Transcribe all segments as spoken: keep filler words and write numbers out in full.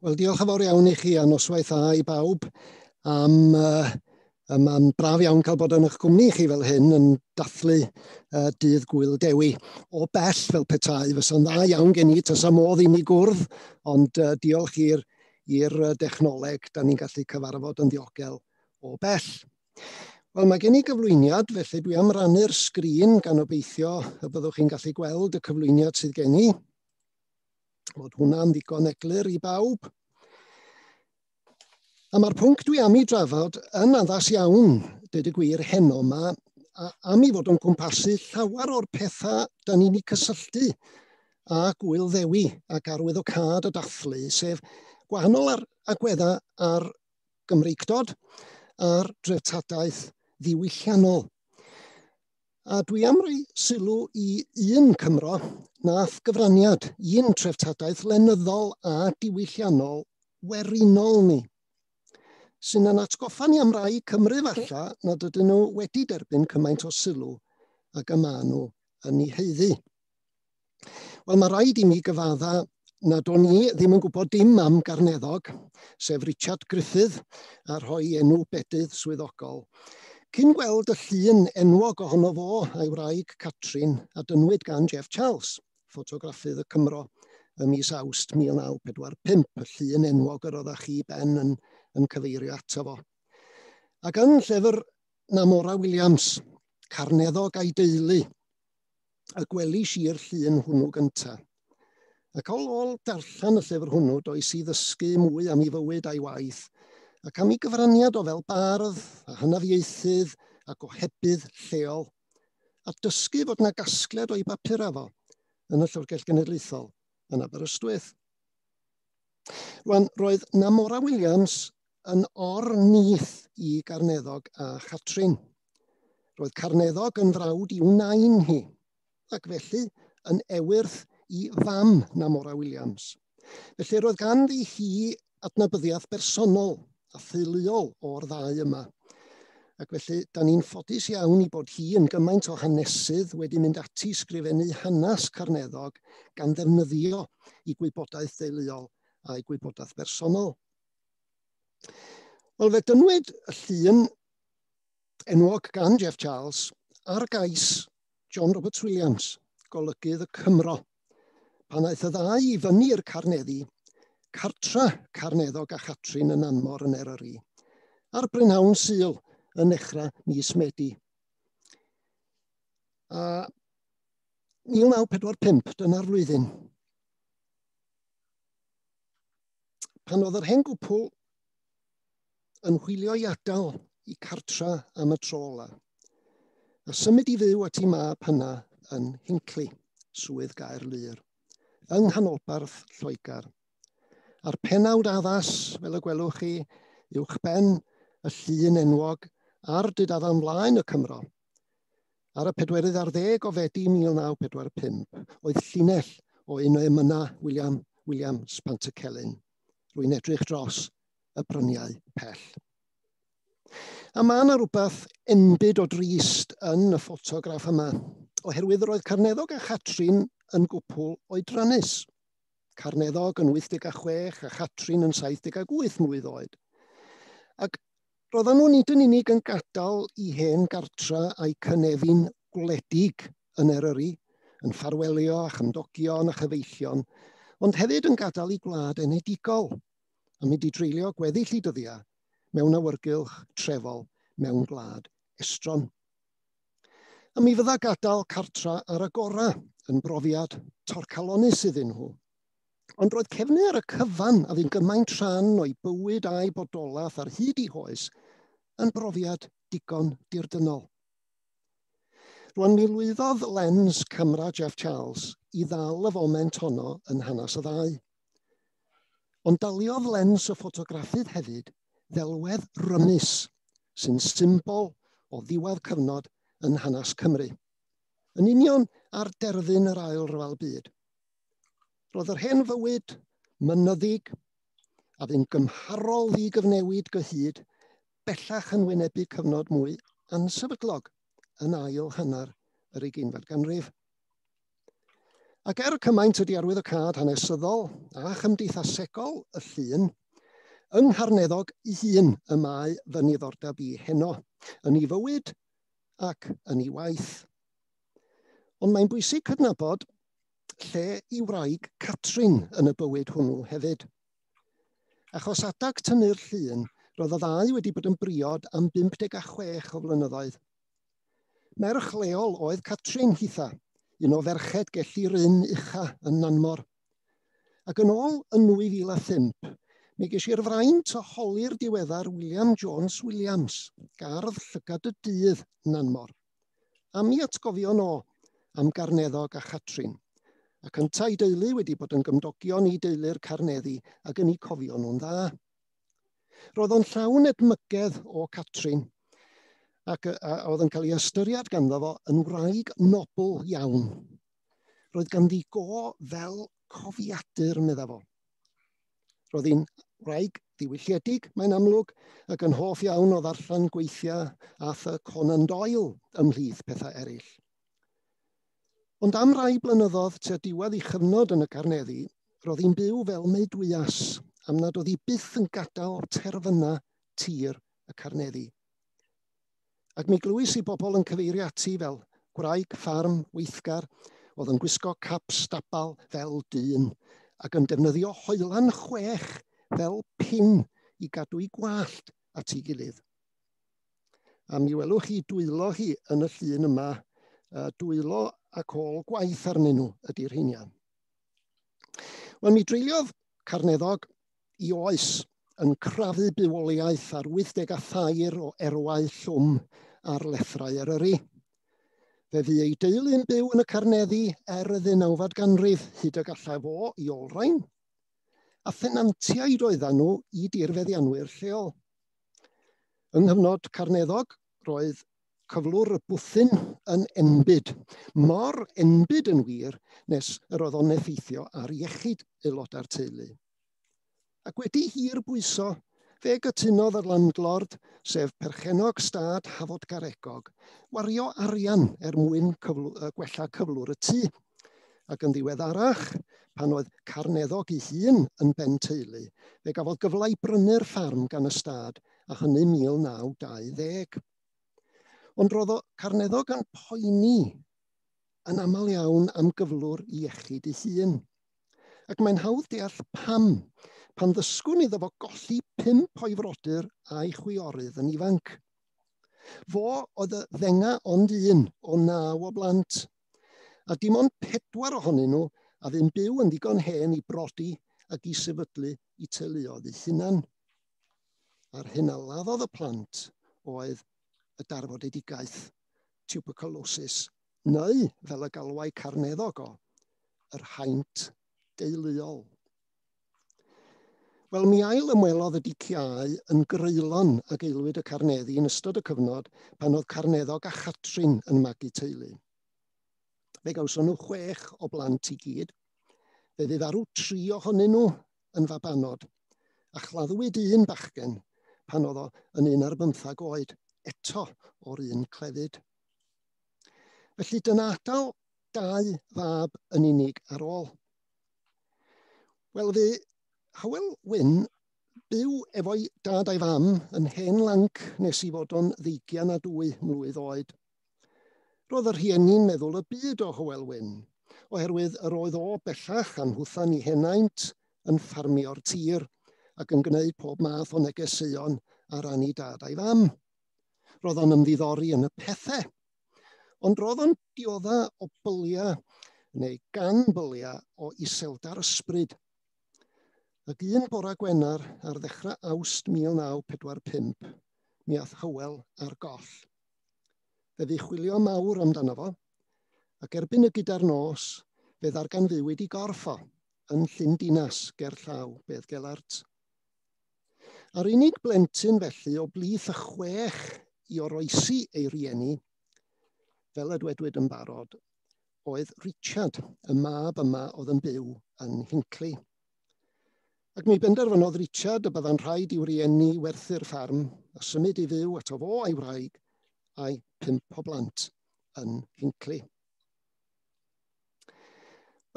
Wel, diolch yn fawr iawn i chi a noswaith dda i bawb. Am, uh, mae'n braf iawn cael bod yn eich cwmni chi fel hyn yn dathlu uh, dydd Gŵyl Dewi. O bell fel petai, fysa'n dda iawn gen i, tasa modd i ni gwrdd, ond uh, diolch i'r i'r dechnoleg, da ni'n gallu cyfarfod yn ddiogel o bell. Wel, mae gen i gyflwyniad, felly dwi am rannu'r sgrin gan obeithio y byddwch chi'n gallu gweld y cyflwyniad sydd gen i. Bod hwnna'n ddigon eglur i bawb. A mae'r pwnc dwi am ei drafod yn addas iawn, dweud y gwir, heno yma, a am ei fod yn cwmpasu llawer o'r pethau da ni'n eu cysylltu â Gŵyl Ddewi ac arwyddocâd y dathlu, sef gwahanol ar agweddau ar Gymreictod a'r dreftadaeth ddiwylliannol. A dwi am roi sylw i un Cymro nath gyfraniad, un treftadaeth lenyddol a diwylliannol werinol ni, sy'n yn atgoffa ni am rai Cymru falla nad ydyn nhw wedi derbyn cymaint o sylw ag y maen nhw yn ei haeddu. Wel, mae rhaid i mi gyfadda nad o'n i ddim yn gwybod dim am Garneddog, sef Richard Griffith, a rhoi enw bedydd swyddogol. Cyn gweld y llun enwog ohono fo a'i wraig Catrin, a dynnwyd gan Jeff Charles, ffotograffydd y Cymro, ym mis Awst mil naw pedwar pump, y llun enwog yr oeddach chi Ben yn, yn cyfeirio ato fo. Ac yn llyfr Namora Williams, Carneddog a'i deulu, y gwelish i'r llun hwnnw gyntaf. Ac ôl ôl darllen y llyfr hwnnw, does i ddysgu mwy am ei fywyd a'i waith, ac am ei gyfraniad o fel bardd, a hynafiaethydd, a gohebydd lleol, a dysgu fod yna gasgliad o'i bapurau fo yn y Llyfrgell Genedlaethol yn Aberystwyth. Rwan, roedd Namora Williams yn or-nith i Garneddog a Chatrin. Roedd Carneddog yn frawd i'w nain hi, ac felly yn ewyrth i fam Namora Williams. Felly roedd ganddi hi adnabyddiaeth bersonol a theuluol o'r ddau yma. Ac felly, da ni'n ffodus iawn i bod hi yn gymaint o hanesydd wedi mynd ati sgrifennu hanes Carneddog gan ddefnyddio ei gwybodaeth deuluol a'i gwybodaeth bersonol. Wel, fe dynnwyd y llun enwog gan Jeff Charles ar gais John Roberts Williams, golygydd y Cymro, pan aeth y ddau i fyny i'r Carneddi, cartra Carneddog a Chatrin yn Nanmor yn Eryri, ar brynhawn Sul yn nechrau mis Medi. A mil naw pedwar pump, dyna'r flwyddyn. Pan oedd yr hen gwpl yn hwylio i adael i cartra am y tro ola, a symud i fyw at ei mab hynna yn Hinckley, swydd Gaerlŷr, yng nghanolbarth Lloegr. A'r penawd addas, fel y gwelwch chi, uwchben y llun enwog a'r dudalen flaen y Cymro. Ar y pedwerydd ar ddeg o Fedi mil naw pedwar pump oedd llinell o un o emynau William Williams Pantycelyn. Rwy'n edrych dros y bryniau pell. A mae yna rhywbeth enbyd o drist yn y ffotograff yma, oherwydd roedd Carneddog a Chatrin yn gwpl oedrannus. Carneddog yn wyth deg a chwech a Chatrin yn saith deg ag wyth mlwydd oed. Ac roedden nhw nid yn unig yn gadael i hen gartra a'i cynefin gwledig yn Eryri, yn ffarwelio a chymdogion a chyfeillion, ond hefyd yn gadael i gwlad enedigol, a mynd i dreulio gweddill i dyddiau mewn awyrgylch trefol mewn gwlad estron. A mi fydda gadael cartra ar y gorau yn brofiad torcalonnus iddyn nhw. Ond roedd cefnu ar y cyfan a fu'n gymaint rhan o'i bywyd a'i bodolaeth ar hyd ei hoes yn brofiad digon dirdynnol. Rwan mi lwyddodd lens camera Jeff Charles i ddal y foment honno yn hanes y ddau. Ond daliodd lens y ffotograffydd hefyd ddelwedd rymus sy'n symbol o ddiwedd cyfnod yn hanes Cymru. Yn union ar derfyn yr Ail Ryfel Byd. Roedd yr hen fywyd mynyddig a fu'n gymharol ddigyfnewid gyhyd bellach yn wynebu cyfnod mwy ansefydlog yn ail hanner yr ugeinfed ganrif. Ac er cymaint ydi arwyddocâd hanesyddol a chymdeithasegol y llun, yng Ngharneddog ei hun y mae fy niddordeb i heno, yn ei fywyd ac yn ei waith. Ond mae'n bwysig cydnabod lle i wraig Catrin yn y bywyd hwnnw hefyd. Achos adag tynnu'r llun, roedd y ddau wedi bod yn briod am bump deg a chwech o flynyddoedd. Merch leol oedd Catrin hitha, un o ferched Gelli Rhyn ucha yn Nanmor. Ac yn ôl yn nwy fil a phump, mi ges i'r fraint o holi'r diweddar William Jones Williams, gardd llygad y dydd Nanmor. A mi atgofion o am Garneddog a Chatrin. Ac yntau deulu wedi bod yn gymdogion i deulu'r Carneddi ac yn eu cofio nhw'n dda. Roedd o'n llawn edmygedd o Catrin ac a, a oedd yn cael ei ystyried ganddo fo yn wraig nobl iawn. Roedd ganddi go fel cofiadur, medda fo. Roedd hi'n wraig ddiwylliedig, mae'n amlwg, ac yn hoff iawn o ddarllen gweithiau Arthur Conan Doyle ymhlith pethau eraill. Ond am rai blynyddoedd tua diwedd ei chyfnod yn y Carneddi, roedd hi'n byw fel meudwyas, am nad oedd hi byth yn gadael terfyna tir y Carneddi. Ac mi glywys i bobl yn cyfeirio ati fel gwraig ffarm weithgar, oedd yn gwisgo cap stabal fel dyn, ac yn defnyddio hoelan chwech fel pin i gadw ei gwallt at ei gilydd. A mi welwch chi dwylo hi yn y llun yma, dwylo ac ôl gwaith arnyn nhw ydy'r rheiniau. Wel, mi dreuliodd Carneddog i oes yn crafu bywoliaeth ar wyth deg a thair o erwau llwm ar lethrau Eryri. Fe fu ei deulu'n byw yn y Carneddi er y ddeunawfed ganrif hyd y gallai fo i olrhain, a thenantiaid oedden nhw i dirfeddianwyr lleol. Yng nghyfnod Carneddog, roedd cyflwr y bwthyn yn enbyd, mor enbyd yn wir nes yr oedd o'n effeithio ar iechyd aelodau'r teulu. Ac wedi hir bwyso, fe gytunodd y landlord, sef perchennog stad Hafod Garegog, wario arian er mwyn cyflw-, yy, gwella cyflwr y tŷ. Ac yn ddiweddarach, pan oedd Carneddog ei hun yn ben teulu, fe gafodd gyfle i brynu'r ffarm gan y stad, a hynny mil naw dau ddeg. Ond roedd o Carneddog yn poeni yn aml iawn am gyflwr iechyd ei hun. Ac mae'n hawdd deall pam, pan ddysgwn iddo fo golli pump o'i frodyr a'i chwiorydd yn ifanc. Fo oedd y ddenga ond un o naw o blant, a dim ond pedwar ohonyn nhw a fu'n byw yn ddigon hen i brodi ac i sefydlu eu teuluoedd eu hunan. A'r hyn a laddodd y plant oedd y darfodedigaeth, tuberculosis, neu, fel y galwai Carneddog o, yr haint deuluol. Wel, mi ail ymwelodd y diciâu yn greulon ag aelwyd y Carneddi yn ystod y cyfnod pan oedd Carneddog a Chatrin yn magu teulu. Fe gawson nhw chwech o blant i gyd. Fe fu farw tri ohonyn nhw yn fabanod, a chladdwyd un bachgen pan oedd o yn un ar bymthag oed, eto o'r un clefyd. Felly dyna adael dau fab yn unig ar ôl. Wel, fe Hywel Wyn byw efo'i dad a'i fam yn hen lanc nes i fod o'n ddeugian a dwy mlwydd oed. Roedd y rhieni'n meddwl y byd o Hywel Wyn, oherwydd yr oedd o bellach anhwthan i henaint yn ffarmio'r tir ac yn gwneud pob math o negeseuon ar ran ei dad a'i fam. Roedd o'n ymddiddori yn y pethau, ond roedd o'n diodda o byliau neu gan byliau o iseldar ysbryd. Ac un bora Gwener ar ddechrau Awst mil naw pedwar pump, mi ath Hywel ar goll. Fe fu chwilio mawr amdano fo, ac erbyn y gyda'r nos, fe ddarganfuwyd i gorff o yn Llyn Dinas ger llaw Beddgelert. A'r unig blentyn felly o blith y chwech i oroesi ei rieni, fel y dwedwyd yn barod, oedd Richard, y mab yma oedd yn byw yn Hinckley. Ac mi benderfynodd Richard y bydda'n rhaid i'w rieni werthu'r ffarm a symud i fyw ato fo a'i wraig a'i pump o blant yn Hinckley.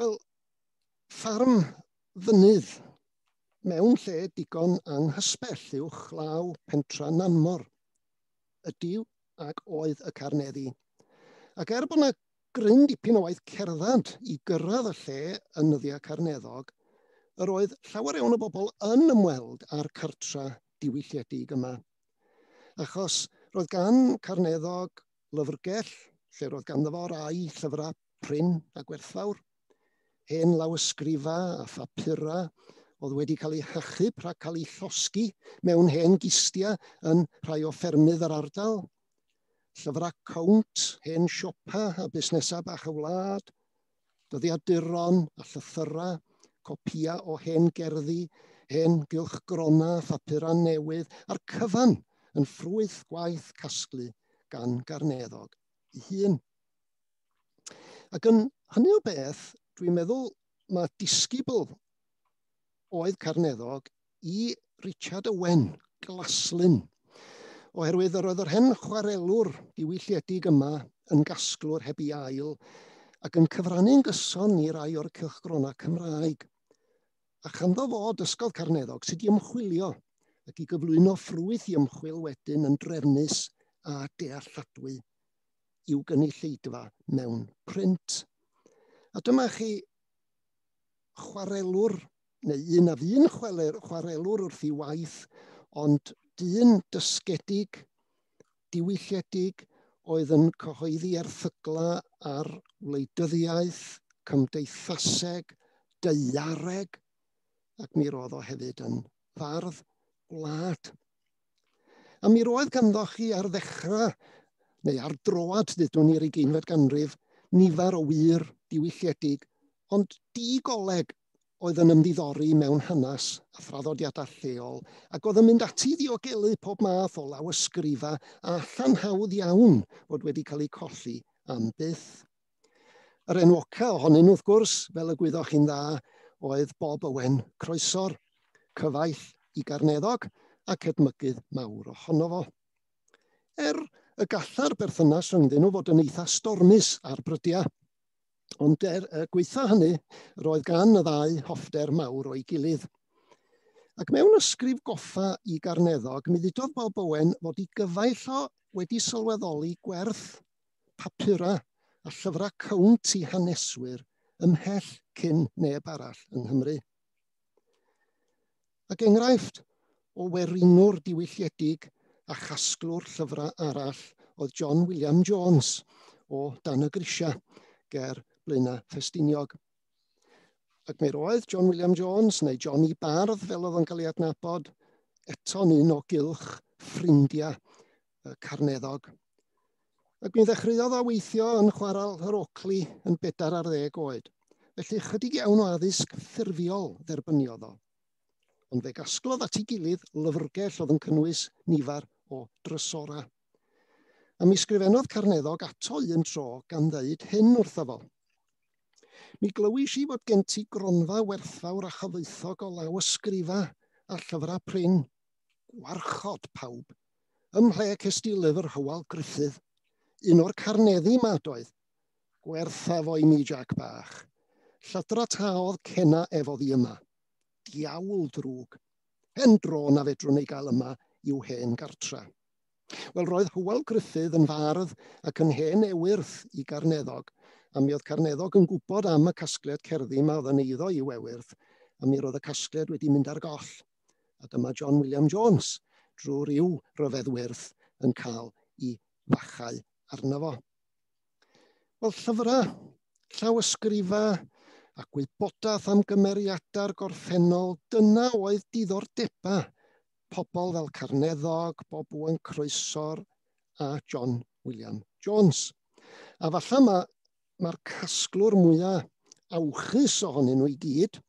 Wel, ffarm fynydd mewn lle digon anghysbell uwchlaw pentra Nanmor ydyw ac oedd y Carneddi. Ac er bod yna gryn dipyn o waith cerdded i gyrraedd y lle yn nyddiau Carneddog, yr oedd llawer iawn o bobl yn ymweld â'r cartra diwylliedig yma. Achos roedd gan Carneddog lyfrgell, lle roedd ganddo fo rai llyfrau prin a gwerthfawr, hen lawysgrifa a phapura oedd wedi cael eu hachub rhag cael eu llosgi mewn hen gistia yn rhai o ffermydd yr ardal, llyfrau cownt, hen siopa a busnesau bach y wlad, dyddiaduron a llythyrau, copia o hen gerddi, hen gylchgrona, phapura newydd, a'r cyfan yn ffrwyth gwaith casglu gan Garneddog ei hun. Ac yn hynny o beth, dwi'n meddwl mae disgybl oedd Carneddog i Richard Owen, Glaslyn, oherwydd yr oedd yr hen chwarelwr diwylliedig yma yn gasglwr heb ei ail ac yn cyfrannu'n gyson i rai o'r cylchgronau Cymraeg. A chanddo fo dysgodd Carneddog sut i ymchwilio ac i gyflwyno ffrwyth i ymchwil wedyn yn drefnus a dealladwy i'w gynulleidfa mewn print. A dyma chi chwarelwr, neu un a fu'n chwarelwr wrth ei waith, ond dyn dysgedig, diwylliedig, oedd yn cyhoeddi erthygla ar wleidyddiaeth, cymdeithaseg, daeareg, ac mi roedd o hefyd yn fardd gwlad. A mi roedd ganddo chi ar ddechrau, neu ar droad, dydwn ni'r ugeinfed ganrif, nifer o wir diwylliedig, ond digoleg oedd yn ymddiddori mewn hanes a thraddodiadau lleol, ac oedd yn mynd ati i ddiogelu pob math o lawysgrifa a allan hawdd iawn fod wedi cael eu colli am byth. Yr enwoca ohonyn nhw, wrth gwrs, fel y gwyddoch chi'n dda, oedd Bob Owen Croesor, cyfaill i Garneddog ac edmygydd mawr ohono fo. Er y galla'r berthynas rhyngddyn nhw fod yn eitha stormus ar brydiau, ond er y gweitha hynny, roedd gan y ddau hoffter mawr o'i gilydd. Ac mewn ysgrif goffa i Garneddog, mi ddudodd Bob Owen fod ei gyfaill o wedi sylweddoli gwerth papura a llyfrau cownt i haneswyr ymhell cyn neb arall yng Nghymru. Ac enghraifft o werinwr diwylliedig a chasglwr llyfrau arall oedd John William Jones o Dan y Grisia ger Blaenau Ffestiniog. Ac mi roedd John William Jones, neu Johnny Bardd fel oedd o'n cael ei adnabod, eto'n un o gylch ffrindiau Carneddog. Ac mi ddechreuodd o weithio yn chwarel yr Oakley yn bedair ar ddeg oed. Felly chydig iawn o addysg ffurfiol dderbyniodd o. Ond fe gasglodd at ei gilydd lyfrgell oedd yn cynnwys nifer o drysorau. A mi sgrifennodd Carneddog ato un tro gan ddeud hyn wrtho fo. Mi glywis i fod gen ti gronfa werthfawr a chyfoethog o lawysgrifa a llyfrau prin. Gwarchod pawb. Ym mhle ces di lyfr Hywel Gruffydd? Un o'r Carneddi ma doedd. Gwertha fo i mi, Jack bach. Llydra taodd cena efo ddi yma. Diawl drwg. Hen dro na fedrwn ei gael yma i'w hen gartra. Wel, roedd Hywel Gruffydd yn fardd ac yn hen ewyrth i Garneddog, a mi oedd Carneddog yn gwybod am y casgliad cerddi yma oedd yn eiddo i'w ewyrth, a mi roedd y casgliad wedi mynd ar goll. A dyma John William Jones, drwy ryw ryfedd wyrth, yn cael ei fachau arno fo. Wel, llyfrau, llawysgrifa a gwybodaeth am gymeriadau'r gorffennol, dyna oedd diddordebau pobl fel Carneddog, Bob Owen Croesor a John William Jones. A falle mae'r ma casglwr mwyaf awchus ohonyn nhw i gyd,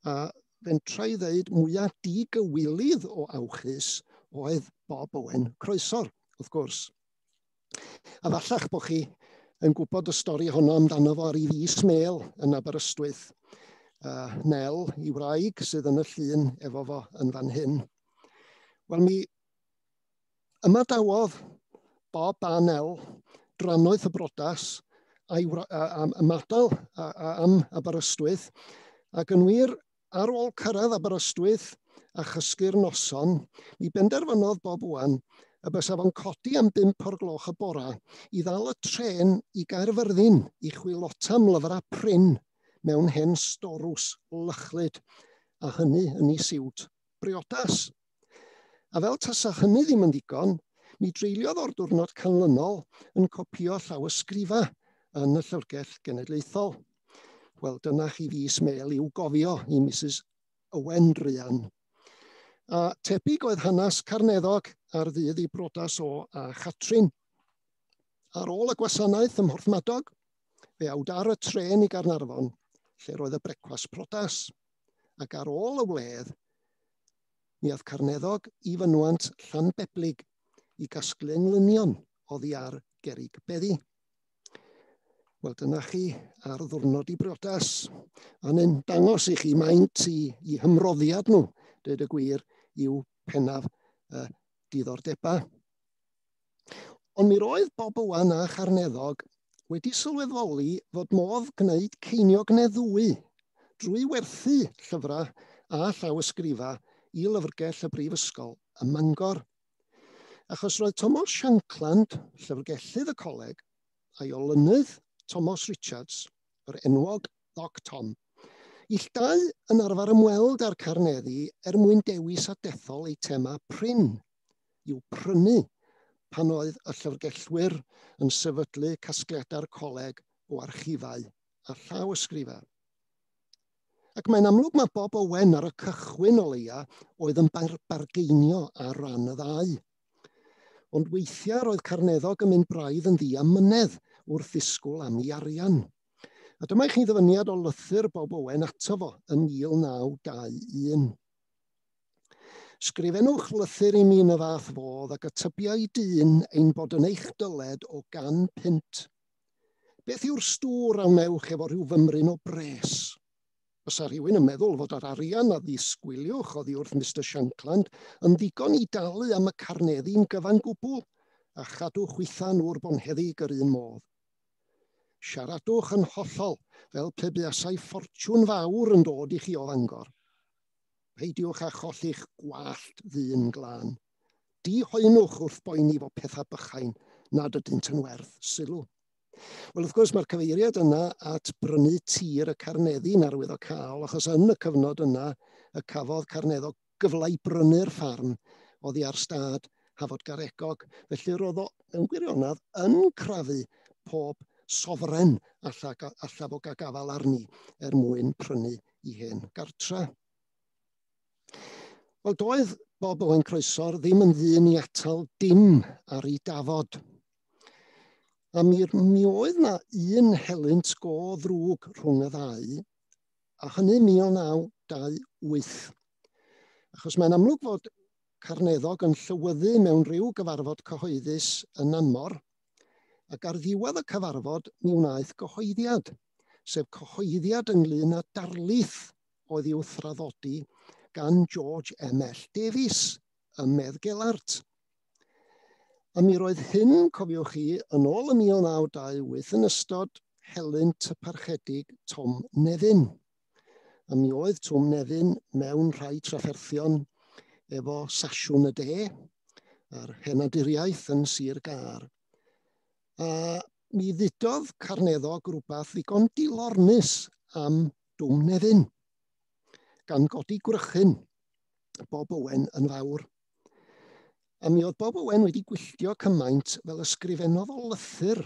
a fentra i ddeud mwyaf digywilydd o awchus oedd Bob Owen Croesor, wrth gwrs. A fallach bod chi yn gwybod y stori honno amdano fo ar ei fis mêl yn Aberystwyth. Uh, Nel, i wraig, sydd yn y llun efo fo yn fan hyn. Wel, mi ymadawodd Bob a Nel drannoeth y brodas a'i am ymadael am Aberystwyth, ac yn wir, ar ôl cyrraedd Aberystwyth a chysgu'r noson, mi benderfynodd Bob Owen y bysa fo'n codi am bump o'r gloch y bora i ddal y trên i Gaerfyrddin i chwilota am lyfrau prin mewn hen storws lychlyd, a hynny yn ei siwt briodas. A fel tasa hynny ddim yn ddigon, mi dreuliodd o'r diwrnod canlynol yn copïo llawysgrifa yn y Llyfrgell Genedlaethol. Wel, dyna chi fis mêl i'w gofio i Missus Owen druan. A tebyg oedd hanes Carneddog ar ddydd i brodas o a Chatrin. Ar ôl y gwasanaeth ym Mhorthmadog, fe awd ar y trên i Gaernarfon, lle roedd y brecwast prodas. Ac ar ôl y wledd, mi aeth Carneddog i fynwant Llanbeblig i gasglu englynion oddi ar gerrig beddi. Wel, dyna chi ar ddwrnod i briodas. A'n yn dangos i chi maint i, i hymroddiad nhw, dweud y gwir, i'w pennaf uh, diddordebau. Ond mi roedd Bob Owen a Charneddog wedi sylweddoli fod modd gwneud ceiniog neu ddwy drwy werthu llyfrau a llawysgrifa i lyfrgell y Brifysgol ym Mangor. Achos roedd Thomas Shankland, llyfrgellydd y coleg, a'i olynydd Thomas Richards, yr enwog Doc Tom, ill dau yn arfer ymweld â'r Carneddi er mwyn dewis a dethol eitemau prin i'w prynu pan oedd y llyfrgellwyr yn sefydlu casgliadau'r coleg o archifau a llawysgrifau. Ac mae'n amlwg mae Bob Owen ar y cychwyn o leia oedd yn bar bargeinio ar ran y ddau. Ond weithiau roedd Carneddog yn mynd braidd yn ddiamynedd wrth ddisgwyl am ei arian. A dyma i chi ddyfyniad o lythyr Bob Owen ato fo yn mil naw dau un. Sgrifennwch lythyr i mi yn y fath fodd ac y tybiai dyn ein bod yn eich dyled o gan punt. Beth yw'r stŵr a wnewch efo rhyw fymryn o bres? Fysa rhywun yn meddwl fod yr arian a ddisgwyliwch oddi wrth Mister Shankland yn ddigon i dalu am y carneddi'n gyfan gwbl a chadw chwitha nhw'r bonheddig yr un modd. Siaradwch yn hollol fel pe buasai ffortiwn fawr yn dod i chi o Fangor. Peidiwch â cholli'ch gwallt ddyn glân. Dihoenwch wrth boeni fo pethau bychain nad ydynt yn werth sylw. Wel, wrth gwrs, mae'r cyfeiriad yna at brynu tir y Carneddi'n arwyddocaol, achos yn y cyfnod yna y cafodd Carneddog gyfle i brynu'r ffarm oddi ar stad Hafod Garegog. Felly roedd o, mewn gwirionedd, yn crafu pob sofren alla, alla fo gael gafael arni er mwyn prynu i hen gartra. Wel, doedd Bob Owen Croesor ddim yn ddyn i atal dim ar ei dafod. A mi, mi oedd na un helynt go ddrwg rhwng y ddau, a hynny mil naw dau wyth. Achos mae'n amlwg fod Carneddog yn llywyddu mewn rhyw gyfarfod cyhoeddus yn Nanmor, ac ar ddiwedd y cyfarfod mi wnaeth gyhoeddiad, sef cyhoeddiad ynglyn â darlith oedd i'w thraddodi gan George M L Davies ym Meddgelert. A mi roedd hyn, cofiwch chi, yn ôl y mil naw dau wyth yn ystod helynt y parchedig Tom Nefyn. A mi oedd Tom Nefyn mewn rhai trafferthion efo Sasiwn y De a'r henaduriaeth yn Sir Gâr. A mi ddudodd Carneddog rhywbeth ddigon dilornus am Dwm Nefyn, gan godi gwrychyn Bob Owen yn fawr. A mi oedd Bob Owen wedi gwylltio cymaint fel ysgrifennodd o lythyr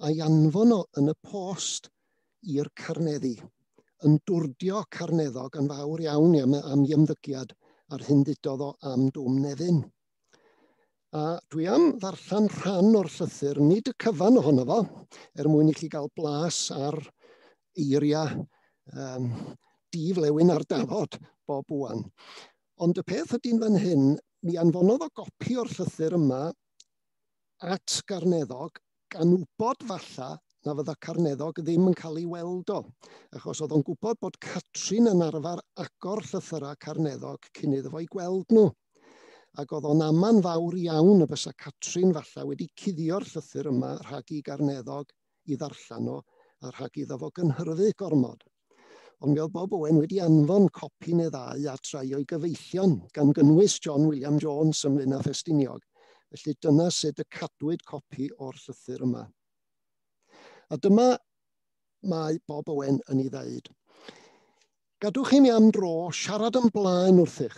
a'i anfon o yn y post i'r Carneddi, yn dwrdio Carneddog yn fawr iawn am, am ei ymddygiad a'r hyn ddudodd o am Dwm Nefyn. A dwi am ddarllen rhan o'r llythyr, nid y cyfan ohono fo, er mwyn i chi gael blas ar eiriau um, diflewyn ar dafod Bob Owen. Ond y peth ydy'n fan hyn, mi anfonodd o gopi o'r llythyr yma at Garneddog, gan wybod falla na fydda Carneddog ddim yn cael ei weld o, achos oedd o'n gwybod bod Catrin yn arfer agor llythyrau Carneddog cyn iddo fo i gweld nhw. Ac oedd o'n aman fawr iawn y bysa Catrin falla wedi cuddio'r llythyr yma rhag i Garneddog i ddarllen o a rhag iddo fo gynhyrfu gormod. Ond mi oedd Bob Owen wedi anfon copi neu ddau at rai o'i gyfeillion, gan gynnwys John William Jones ym Mlaenau Ffestiniog. Felly dyna sut y cadwyd copi o'r llythyr yma. A dyma mae Bob Owen yn ei ddeud. Gadwch i mi am dro siarad yn blaen wrthych,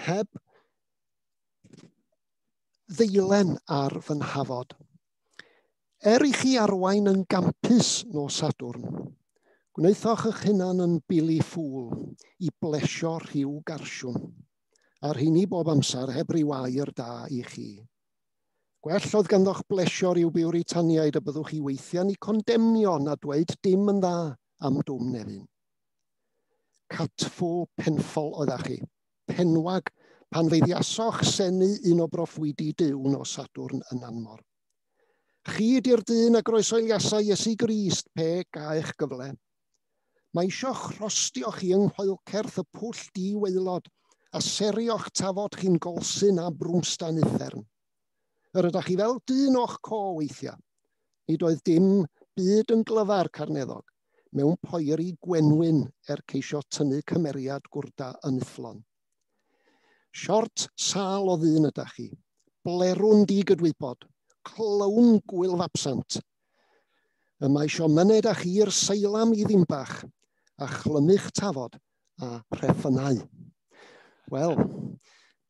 heb ddeilen ar fy nhafod. Er i chi arwain yn gampus nos Sadwrn, gwnaethoch eich hunan yn bili ffŵl i blesio rhyw garsiwn, a'r rheini bob amser heb ryw air da i chi. Gwell oedd ganddoch blesio rhyw Biwritaniaid y byddwch chi weithiau'n eu condemnio na dweud dim yn dda am Dwm Nefyn. Catffwl penffol oeddach chi, penwag, pan feiddiasoch senu un o broffwydi Duw nos Sadwrn yn Nanmor. Chi ydi'r dyn a groesoeliasai Iesu Grist pe gaech gyfle. Mae isio'ch rhostio chi yng nghoelcerth y pwll di-waelod a serio'ch tafod chi'n golsyn a brwmstan uffern. Yr ydych chi fel dyn o'ch co weithiau. Nid oedd dim byd yn glyfar Carneddog mewn poeri gwenwyn er ceisio tynnu cymeriad gwrda yn ufflon. Siort sâl o ddyn ydych chi, blerwn digydwybod, clown gwyl fabsant. Y mae isio myned â chi i'r seilam i Ddimbach a chlymu'ch tafod a rheffynau. Wel,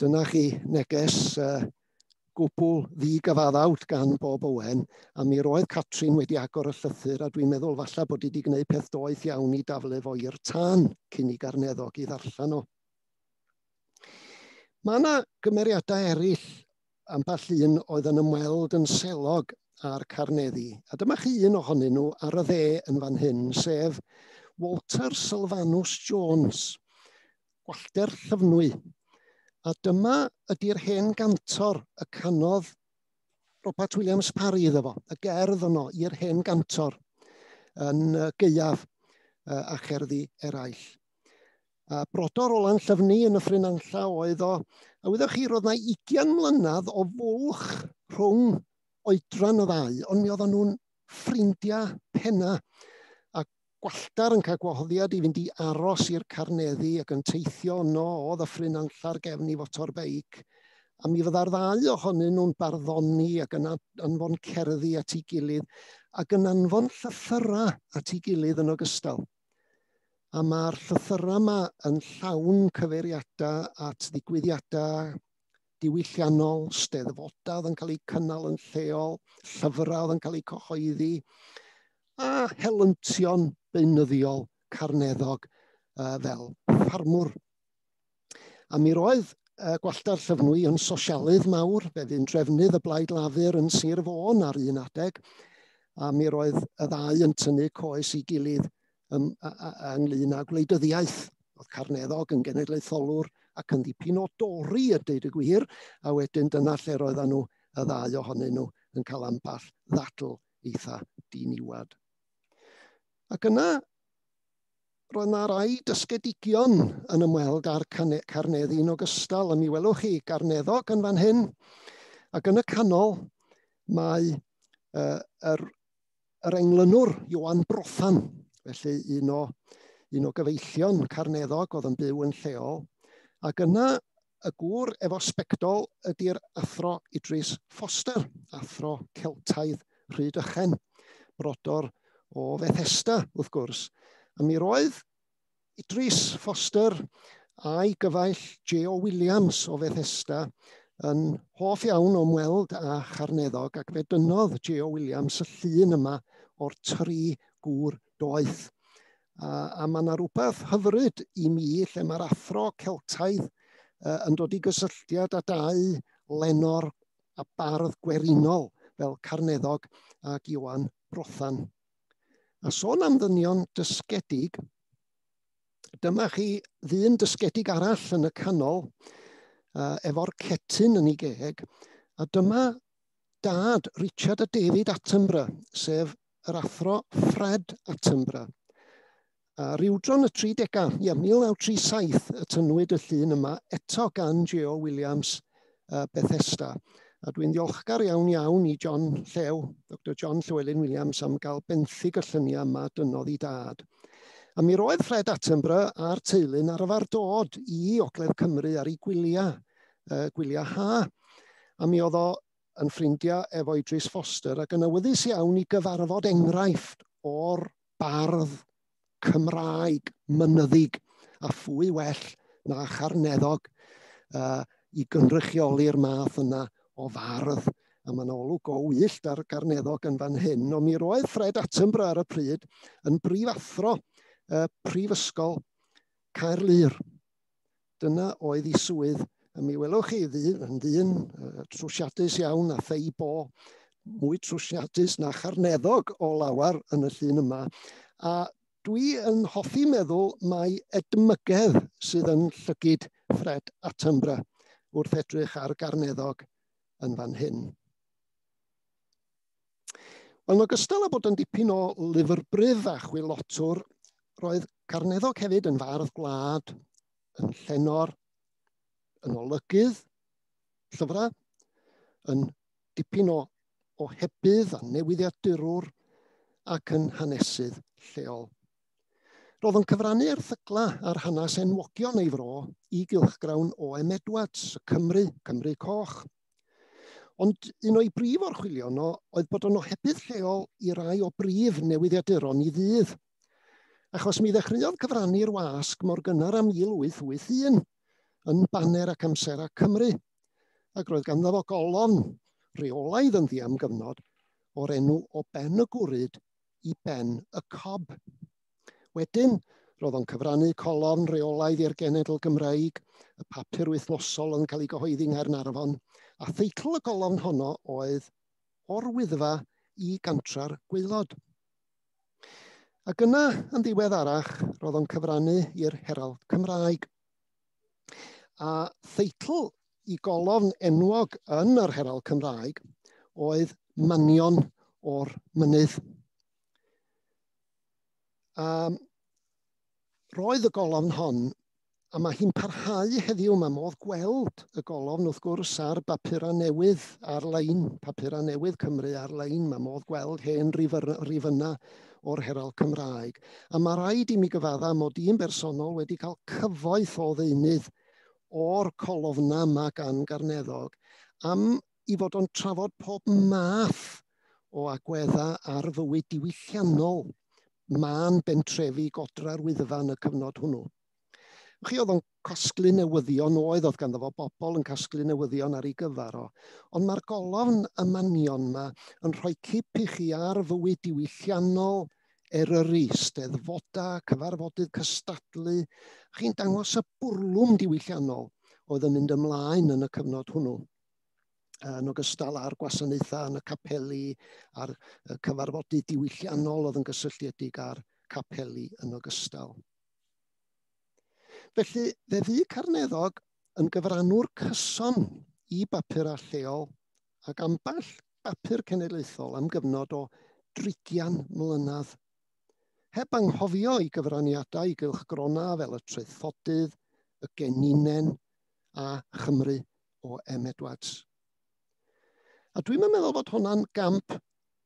dyna chi neges uh, gwbl ddigyfaddawd gan Bob Owen, a mi roedd Catrin wedi agor y llythyr, a dwi'n meddwl falle bod hi wedi gwneud peth doeth iawn i daflu fo i'r tân cyn i Garneddog i ddarllen o. Mae yna gymeriadau eraill ambell un oedd yn ymweld yn selog â'r Carneddi, a dyma chi un ohonyn nhw ar y dde yn fan hyn, sef Walter Sylvanus Jones, Gwallter Llyfnwy. A dyma ydy'r hen gantor y canodd Robert Williams Parry iddo fo, y gerdd yno i'r hen gantor yn gaeaf a cherddi eraill. A brodor o Lanllyfni yn y Ffryn Anlla oedd o, a wyddoch chi, roedd 'na ugain mlynedd o fwlch rhwng oedran y ddau, ond mi oedden nhw'n ffrindiau penna. A Gwallter yn cael gwahoddiad i fynd i aros i'r Carneddi ac yn teithio yno o Ddyffryn Nantlla'r gefn i fotor beic. A mi fydda'r ddau ohonyn nhw'n barddoni ac yn anfon cerddi at ei gilydd ac yn anfon llythyrau at ei gilydd yn ogystal. A mae'r llythyrau yma yn llawn cyfeiriadau at ddigwyddiadau diwylliannol, steddfodau oedd yn cael eu cynnal yn lleol, llyfrau oedd yn cael eu cyhoeddi, a helyntion beunyddiol Carneddog uh, fel ffarmwr. A mi roedd uh, Gwallter Llyfnwy yn sosialydd mawr, fe fu'n drefnydd y Blaid Lafur yn Sir Fôn ar un adeg, a mi roedd y ddau yn tynnu coes i gilydd um, a, a, a, ynglyn â gwleidyddiaeth. Oedd Carneddog yn genedlaetholwr ac yn ddipyn o dori, a deud y gwir, a wedyn dyna lle roedden nhw, y ddau ohonyn nhw, yn cael ambell ddadl eitha diniwad. Ac yna, roedd yna rai dysgedigion yn ymweld â'r Carneddi yn ogystal, a mi welwch chi Garneddog yn fan hyn. Ac yn y canol mae uh, yr, yr englynwr Ioan Brothan, felly un o, un o gyfeillion Carneddog oedd yn byw yn lleol. Ac yna y gŵr efo sbectol ydy'r athro Idris Foster, athro Celtaidd Rhydychen, brodor o Fethesda, wrth gwrs. A mi roedd Idris Foster a'i gyfaill J O Williams o Fethesda yn hoff iawn o ymweld â Charneddog, ac fe dynnodd J O Williams y llun yma o'r tri gŵr doeth. A, a mae yna rhywbeth hyfryd i mi lle mae'r athro Celtaidd uh, yn dod i gysylltiad â dau lenor a bardd gwerinol fel Carneddog ac Ioan Brothan. A sôn am ddynion dysgedig, dyma chi ddyn dysgedig arall yn y canol, uh, efo'r cetyn yn ei geg, a dyma dad Richard a David Attenborough, sef yr athro Fred Attenborough. A rywdro'n y tridegau, ia, mil naw tri saith y tynnwyd y llun yma, eto gan J O Williams uh, Bethesda. A dwi'n ddiolchgar iawn iawn i John Llew, Doctor John Llewelyn Williams, am gael benthyg y lluniau yma dynnodd i dad. A mi roedd Fred Attenborough a'r teulu'n arfer dod i Ogledd Cymru ar ei gwyliau, uh, gwyliau ha. A mi oedd o yn ffrindiau efo Idris Foster ac yn awyddus iawn i gyfarfod enghraifft o'r bardd Cymraeg mynyddig a phwy well na Charneddog uh, i gynrychioli'r math yna o fardd. A mae'n olwg o wyllt ar Garneddog yn fan hyn. Ond mi roedd Fred Attenborough ar y pryd yn brifathro uh, Prifysgol Caerlŷr. Dyna oedd ei swydd. A mi welwch chi ddyn, yn ddyn uh, trwsiadus iawn a thei bo, mwy trwsiadus na Charneddog o lawar yn y llun yma. A dwi yn hoffi meddwl mai edmygedd sydd yn llygid Fred Attenborough wrth edrych ar Garneddog yn fan hyn. Wel, yn ogystal â bod yn dipyn o lyfrbryf a chwilotwr, roedd Carneddog hefyd yn fardd gwlad, yn llenor, yn olygydd llyfrau, yn dipyn o ohebydd a newyddiadurwr ac yn hanesydd lleol. Roedd yn cyfrannu erthygla ar hanes enwogion ei fro i gylchgrawn O M Edwards, y Cymru, Cymru Coch. Ond un o'i brif orchwylion o oedd bod yn ohebydd lleol i rai o brif newyddiaduron i ddydd. Achos mi ddechreuodd cyfrannu'r wasg mor gynnar â mil wyth wyth un yn Baner ac Amsera Cymru. Ac roedd ganddo fo golofn reolaidd ynddi am gyfnod o'r enw O Ben y Gwryd i Ben y Cob. Wedyn, roedd o'n cyfrannu colofn reolaidd i'r Genedl Gymreig, y papur wythnosol yn cael ei gyhoeddi yng Nghaernarfon, a theitl y golofn honno oedd O'r Wyddfa i Gantra'r Gwaelod. Ac yna, yn ddiweddarach, roedd o'n cyfrannu i'r Herald Cymraeg. A theitl i golofn enwog yn yr Herald Cymraeg oedd Manion o'r Mynydd. A roedd y golofn hon, a mae hi'n parhau heddiw, mae modd gweld y golofn wrth gwrs ar bapurau newydd ar-lein, papurau newydd Cymru ar-lein, mae modd gweld hen rifynnau o'r Herald Cymraeg. A mae rhaid i mi gyfadda mod i'n bersonol wedi cael cyfoeth o ddeunydd o'r colofna yma gan Garneddog am i fod o'n trafod pob math o agweddau ar fywyd diwylliannol mân bentrefi godra'r Wyddfa yn y cyfnod hwnnw. Chi oedd o'n casglu newyddion oedd, oedd ganddo fo bobl yn casglu newyddion ar ei gyfer o. Ond mae'r golofn y manion yma yn rhoi cip i chi ar fywyd diwylliannol, Eryri, steddfoda, cyfarfodydd cystadlu. Chi'n dangos y bwrlwm diwylliannol oedd yn mynd ymlaen yn y cyfnod hwnnw. Yn ogystal â'r gwasanaethau yn y capeli, a'r cyfarfodydd diwylliannol oedd yn gysylltiedig â'r capeli yn ogystal. Felly, fe fu Carneddog yn gyfrannwr cyson i bapurau lleol ac ambell bapur cenedlaethol am gyfnod o drigian mlynedd. Heb anghofio i gyfraniadau i gylchgronau fel y Traethodydd, y Geninen a Chymru o M Edwards. A dwi'n meddwl bod hwnna'n gamp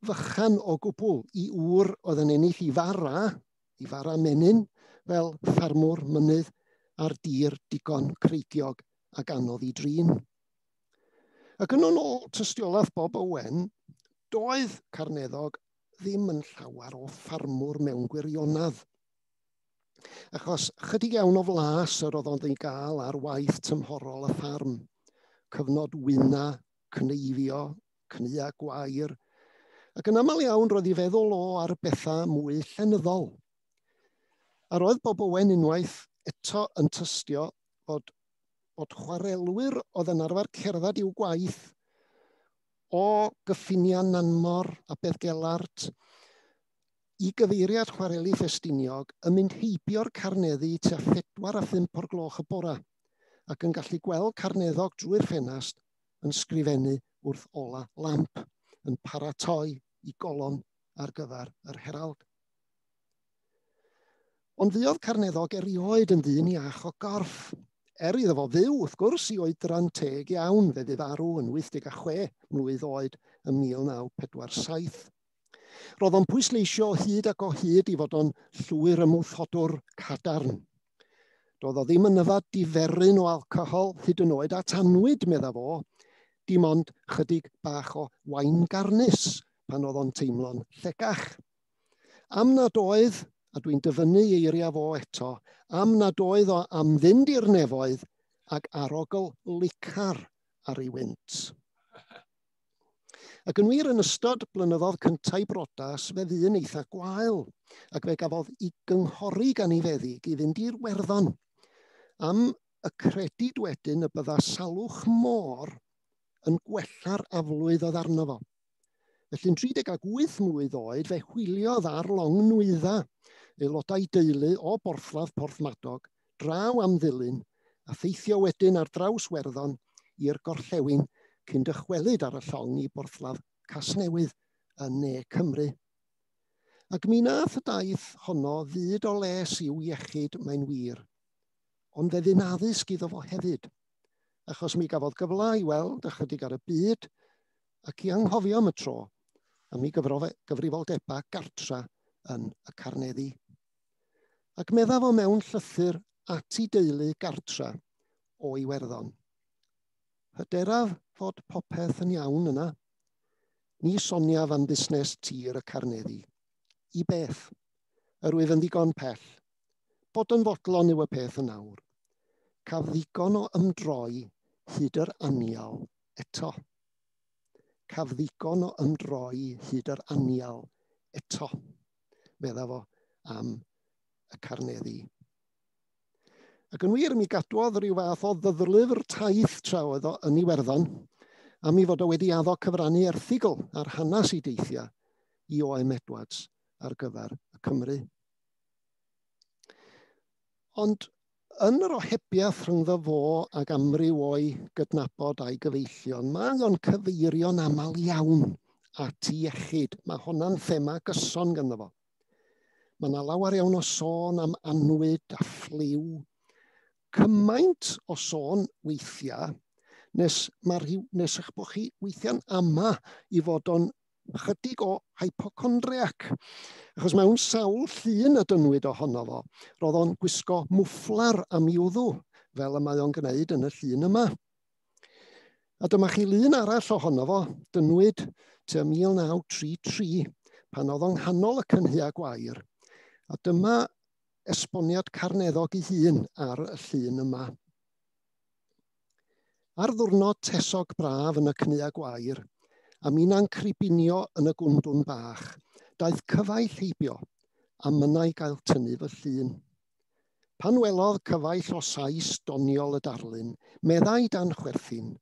fychan o gwbl i ŵr oedd yn ennill i fara, i fara menyn, fel ffarmwr mynydd ar dir digon creigiog ac anodd i drin. Ac yn ôl tystiolaeth Bob Owen, doedd Carneddog ddim yn llawer o ffarmwr mewn gwirionedd. Achos chydig iawn o flas yr oedd o'n ei gael ar waith tymhorol y ffarm. Cyfnod wyna, cneifio, cnua gwair, ac yn aml iawn roedd ei feddwl o ar bethau mwy llenyddol. A roedd Bob Owen unwaith eto yn tystio fod, fod chwarelwyr oedd yn arfer cerdded i'w gwaith o gyffiniau Nanmor a Beddgelert i gyfeiriad chwareli Ffestiniog yn mynd heibio'r Carneddi tua phedwar a phump o'r gloch y bora ac yn gallu gweld Carneddog drwy'r ffenast yn sgrifennu wrth ola lamp, yn paratoi i golofn ar gyfer yr Herald. Ond fuodd Carneddog erioed yn ddyn iach o gorff, er iddo fo fyw, wrth gwrs, i oedran teg iawn, fe fu farw yn wyth deg a chwe mlwydd oed ym mil naw pedwar saith. Roedd o'n pwysleisio hyd ac o hyd i fod o'n llwyr ymwrthodwr cadarn. Doedd o ddim yn yfad diferyn o alcohol, hyd yn oed at annwyd, medda fo, dim ond chydig bach o wain garnus pan oedd o'n teimlo'n llegach. Am nad oedd, a dwi'n dyfynnu eiriau fo eto, am nad oedd o am fynd i'r nefoedd ac arogl licar ar ei wynt. Ac yn wir, yn ystod blynyddoedd cyntaf brodas, fe fu'n eitha gwael, ac fe gafodd ei gynghori gan ei feddyg i fynd i'r Werddon, am y credid wedyn y bydda salwch môr yn gwella'r aflwydd oedd arno fo. Felly'n tri deg ag wyth mlwydd oed, fe hwyliodd ar long nwydda, aelodau deulu o Borthladd Porthmadog, draw am Ddulyn, a theithio wedyn ar draws Werddon i'r gorllewin cyn dychwelyd ar y llong i Borthladd Casnewydd yn Ne Cymru. Ac mi nath y daith honno fyd o les i'w iechyd, mae'n wir, ond fe fu'n addysg iddo fo hefyd, achos mi gafodd gyfle i weld ychydig ar y byd ac i anghofio am y tro am ei gyfrifoldebau gartra yn y Carneddi. Ac medda fo mewn llythyr at ei deulu gartra o Iwerddon. Hyderaf fod popeth yn iawn yna. Ni soniaf am busnes tir y Carneddi. I beth? Yr wyf yn ddigon pell. Bod yn fodlon yw y peth yn awr. Caf ddigon o ymdroi hyd yr anial eto. Caf ddigon o ymdroi hyd yr anial eto, medda fo am y Carneddi. Ac yn wir, mi gadwodd rhyw fath o ddyddlyfr taith tra oedd o yn Iwerddon, a mi fod o wedi addo cyfrannu erthygl ar hanes ei deithiau i O M Edwards ar gyfer y Cymru. Ond yn yr ohebiaeth rhyngddo fo ag amryw o'i gydnabod a'i gyfeillion, mae o'n cyfeirio'n aml iawn at iechyd. Mae honna'n thema gyson ganddo fo. Mae yna lawer iawn o sôn am annwyd a ffliw. Cymaint o sôn weithiau, nes, ma rhyw, nes eich bod chi weithiau'n ama i fod o'n chydig o hypochondriac. Achos mewn sawl llun y dynwyd ohono fo, roedd o'n gwisgo mwfflar am i'w wddw, fel y mae o'n gwneud yn y llun yma. A dyma chi lun arall ohono fo, dynwyd tua mil naw tri tri, pan oedd o'n nghanol y cynhaea gwair. A dyma esboniad Carneddog ei hun ar y llun yma. Ar ddwrnod tesog braf yn y cynhaea gwair, a minnau'n cribinio yn y gwndwn bach, daeth cyfaill heibio, a mynnau gael tynnu fy llun. Pan welodd cyfaill o Sais doniol y darlun, meddai dan chwerthin,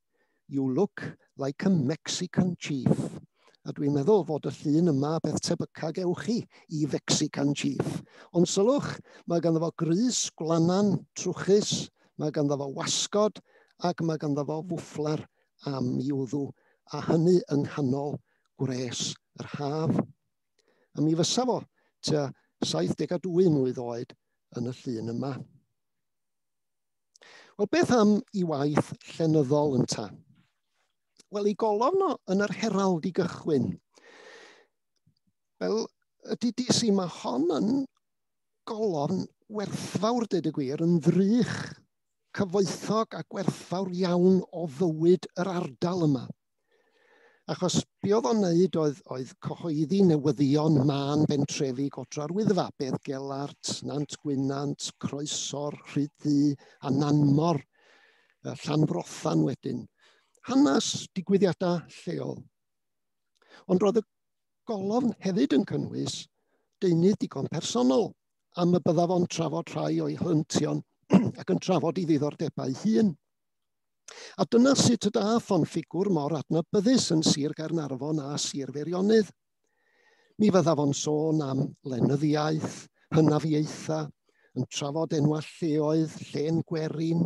"You look like a Mexican chief." A dwi'n meddwl fod y llun yma beth tebyca gewch chi i Mexican chief. Ond sylwch, mae ganddo fo grys gwlanan trwchus, mae ganddo fo wasgod, ac mae ganddo fo fwfflar am i'w wddw, a hynny yng nghanol gwres yr haf. A mi fysa fo tua saith deg a dwy mlwydd oed yn y llun yma. Wel, beth am i waith llenyddol ynta? Wel, ei golofn o yn yr Herald i gychwyn. Fel y D D C, mae hon yn golofn werthfawr, dweud y gwir, yn ddrych cyfoethog a gwerthfawr iawn o fywyd yr ardal yma. Achos be oedd o'n wneud oedd, oedd cyhoeddi newyddion mân bentrefi Godra'r Wyddfa, Beddgelert, Nant Gwynant, Croesor, Rhyd-ddu a Nanmor, Llanfrothan wedyn. Hanes digwyddiadau lleol. Ond roedd y golofn hefyd yn cynnwys deunydd digon personol am y byddaf o'n trafod rhai o'i helyntion ac yn trafod ei ddiddordebau hun. A dyna sut y dath o'n ffigwr mor adnabyddus yn Sir Gaernarfon a Sir Feirionnydd. Mi fyddaf o'n sôn am lenyddiaeth, hynafiaethau, yn trafod enwau lleoedd, llên gwerin,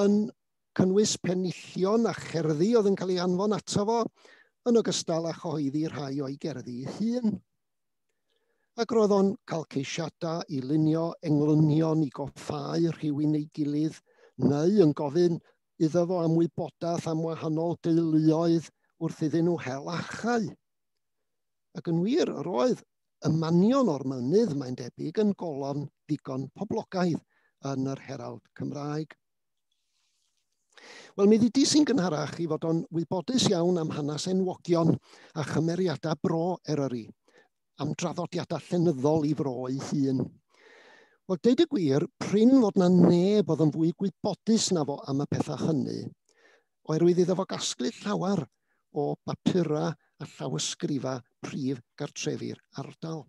yn cynnwys penillion a cherddi oedd yn cael ei anfon ato fo, yn ogystal â chyhoeddi rhai o'i gerddi ei hun. Ac roedd o'n cael ceisiadau i lunio englynion i goffáu rhywun ei gilydd, neu yn gofyn iddo fo am wybodaeth am wahanol deuluoedd wrth iddyn nhw hel achau. Ac yn wir, yr oedd y manion o'r mynydd, mae'n debyg, yn golofn ddigon poblogaidd yn yr Herald Cymraeg. Wel, mi ddudis i'n gynharach i fod o'n wybodus iawn am hanes enwogion a chymeriadau bro Eryri, am draddodiadau llenyddol i fro ei hun. Wel, deud y gwir, prin fod na neb oedd yn fwy gwybodus na fo am y pethau hynny, oherwydd iddo fo gasglu llawer o bapura a llawysgrifa prif gartrefi'r ardal.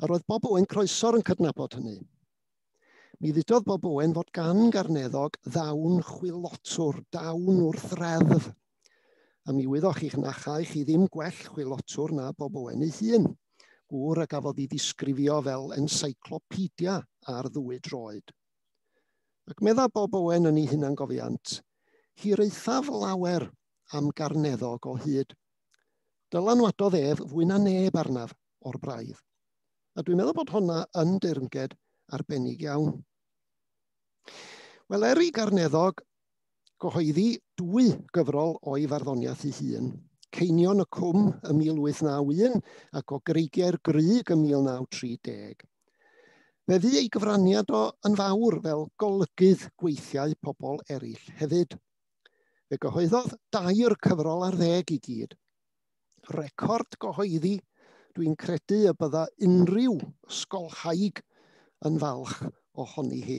A roedd Bob Owen Croesor yn cydnabod hynny. Mi ddudodd Bob Owen fod gan Garneddog ddawn chwilotwr, dawn wrth reddf. A mi wyddoch chi'ch na chaech chi ddim gwell chwilotwr na Bob Owen ei hun, gŵr a gafodd ei ddisgrifio fel encyclopedia ar ddwy droed. Ac medda Bob Owen yn ei hunangofiant, hiraethaf lawer am Garneddog o hyd. Dylanwadodd ef fwy na neb arnaf o'r braidd. A dwi'n meddwl bod honna yn deyrnged arbennig iawn. Wel, er i Garneddog gyhoeddi dwy gyfrol o'i farddoniaeth ei hun, Ceinion y Cwm ym mil wyth naw un ac o Greigiau'r Grug ym mil naw tri deg. Fe fu ei gyfraniad o yn fawr fel golygydd gweithiau pobl eraill hefyd. Fe gyhoeddodd dair cyfrol ar ddeg i gyd. Record gyhoeddi, dwi'n credu y bydda unrhyw ysgolhaig yn falch ohoni hi.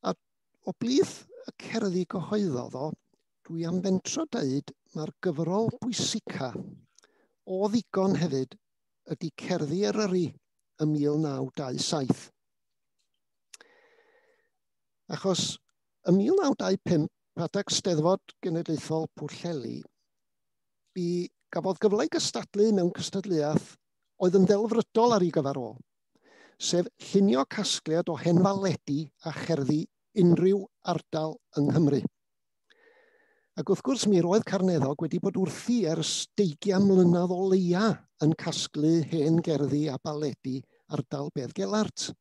A o blith y cerddi gyhoeddodd o, dwi am fentro deud mae'r gyfrol bwysica o ddigon hefyd ydy Cerddi Eryri ym mil naw dau saith. Achos ym mil naw dau pump, adeg Steddfod Genedlaethol Pwllheli, mi gafodd gyfle i gystadlu mewn cystadleuaeth oedd yn ddelfrydol ar ei gyfer o, sef llunio casgliad o hen faledi a cherddi unrhyw ardal yng Nghymru. Ac wrth gwrs, mi roedd Carneddog wedi bod wrthi ers deugain mlynedd o leia yn casglu hen gerddi a baledi ardal Beddgelert.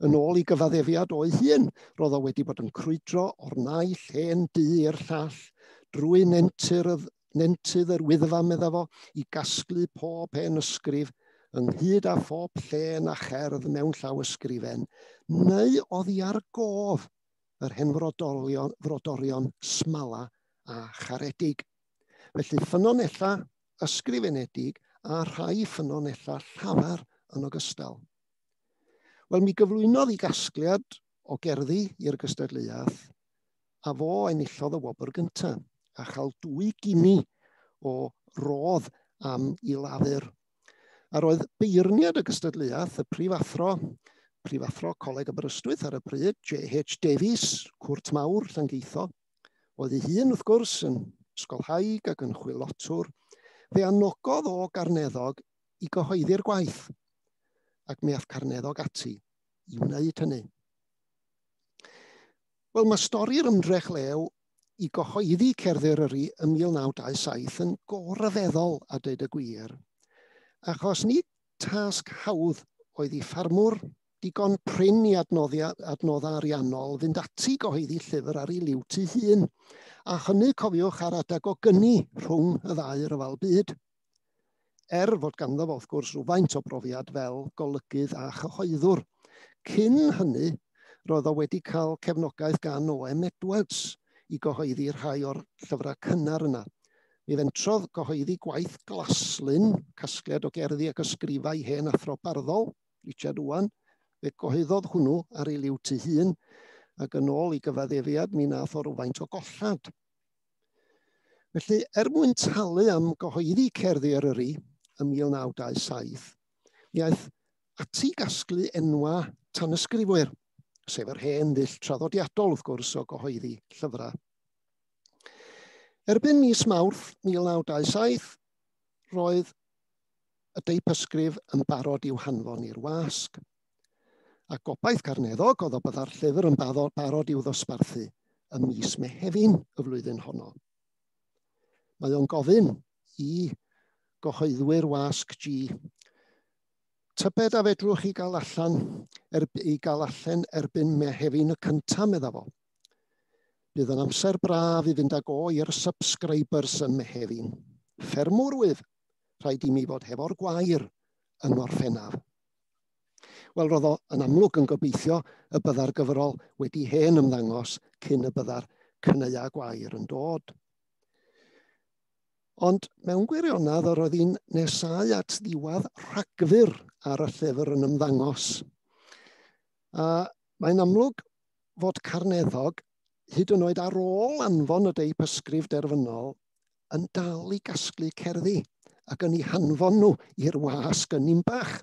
Yn ôl i gyfaddefiad o'i hun, roedd o wedi bod yn crwydro o'r naill hen dŷ i'r llall, drwy nentyr y, nentydd yr Wyddfa, medda fo, i gasglu pob hen ysgrif, ynghyd â phob llên a cherdd mewn llawysgrifen, neu oddi ar gof yr hen frodorion, frodorion smala a charedig. Felly ffynonella ysgrifenedig a rhai ffynonella llafar yn ogystal. Wel, mi gyflwynodd i gasgliad o gerddi i'r gystadleuaeth, a fo enillodd y wobr gyntaf, a chael dwy gini o rodd am ei lafur. A roedd beirniad y gystadleuaeth, y prifathro, prifathro Coleg Aberystwyth ar y pryd, J H Davies, Cwrt Mawr, Llangeitho, oedd ei hun, wrth gwrs, yn ysgolhaig ac yn chwilotwr, fe anogodd o Garneddog i gyhoeddi'r gwaith, ac mi ath Carneddog ati i wneud hynny. Wel, mae stori'r ymdrech lew i gyhoeddi Cerddi Eryri ym mil naw dau saith yn goryfeddol, a dweud y gwir, achos nid tasg hawdd oedd i ffarmwr digon prin i adnoddia, adnoddau ariannol fynd ati gyhoeddi llyfr ar ei liwt ei hun, a hynny, cofiwch, ar adeg o gyni rhwng y ddau ryfel byd. Er fod ganddo fo, wrth gwrs, rhywfaint o brofiad fel golygydd a chyhoeddwr. Cyn hynny, roedd o wedi cael cefnogaeth gan O M Edwards i gyhoeddi rhai o'r llyfrau cynnar yna. Mi fentrodd gyhoeddi gwaith Glaslyn, casgliad o gerddi ac ysgrifau hen athro barddol, Richard Owen. Fe gyhoeddodd hwnnw ar ei liwt ei hun, ac yn ôl i gyfaddefiad mi nath o rywfaint o gollad. Felly, er mwyn talu am gyhoeddi Cerddi Eryri ym mil naw dau saith, mi aeth ati gasglu enwa tanysgrifwyr, sef yr hen ddull traddodiadol, wrth gwrs, o gyhoeddi llyfrau. Erbyn mis Mawrth mil naw dau saith, roedd y deipysgrif yn barod i'w hanfon i'r wasg. A gobaith Carneddog oedd o bydda'r llyfr yn barod i'w ddosbarthu ym mis Mehefin y flwyddyn honno. Mae o'n gofyn i gyhoeddwyr wasg G Tybed a fedrwch chi gael allan, er, i gael allan erbyn Mehefin y cyntaf, medda fo. Bydd yn amser braf i fynd ag o i'r subscribers yn Mehefin. Ffermwr wyf, rhaid i mi fod hefo'r gwair yng Ngorffennaf. Wel, roedd o yn amlwg yn gobeithio y bydda'r gyfrol wedi hen ymddangos cyn y bydda'r cneua gwair yn dod. Ond mewn gwirionedd, yr oedd hi'n nesáu at ddiwedd Rhagfyr ar y llyfr yn ymddangos. A mae'n amlwg fod Carneddog, hyd yn oed ar ôl anfon y deip ysgrif derfynol, yn dal i gasglu cerddi ac yn eu hanfon nhw i'r wasg yn Ninbach.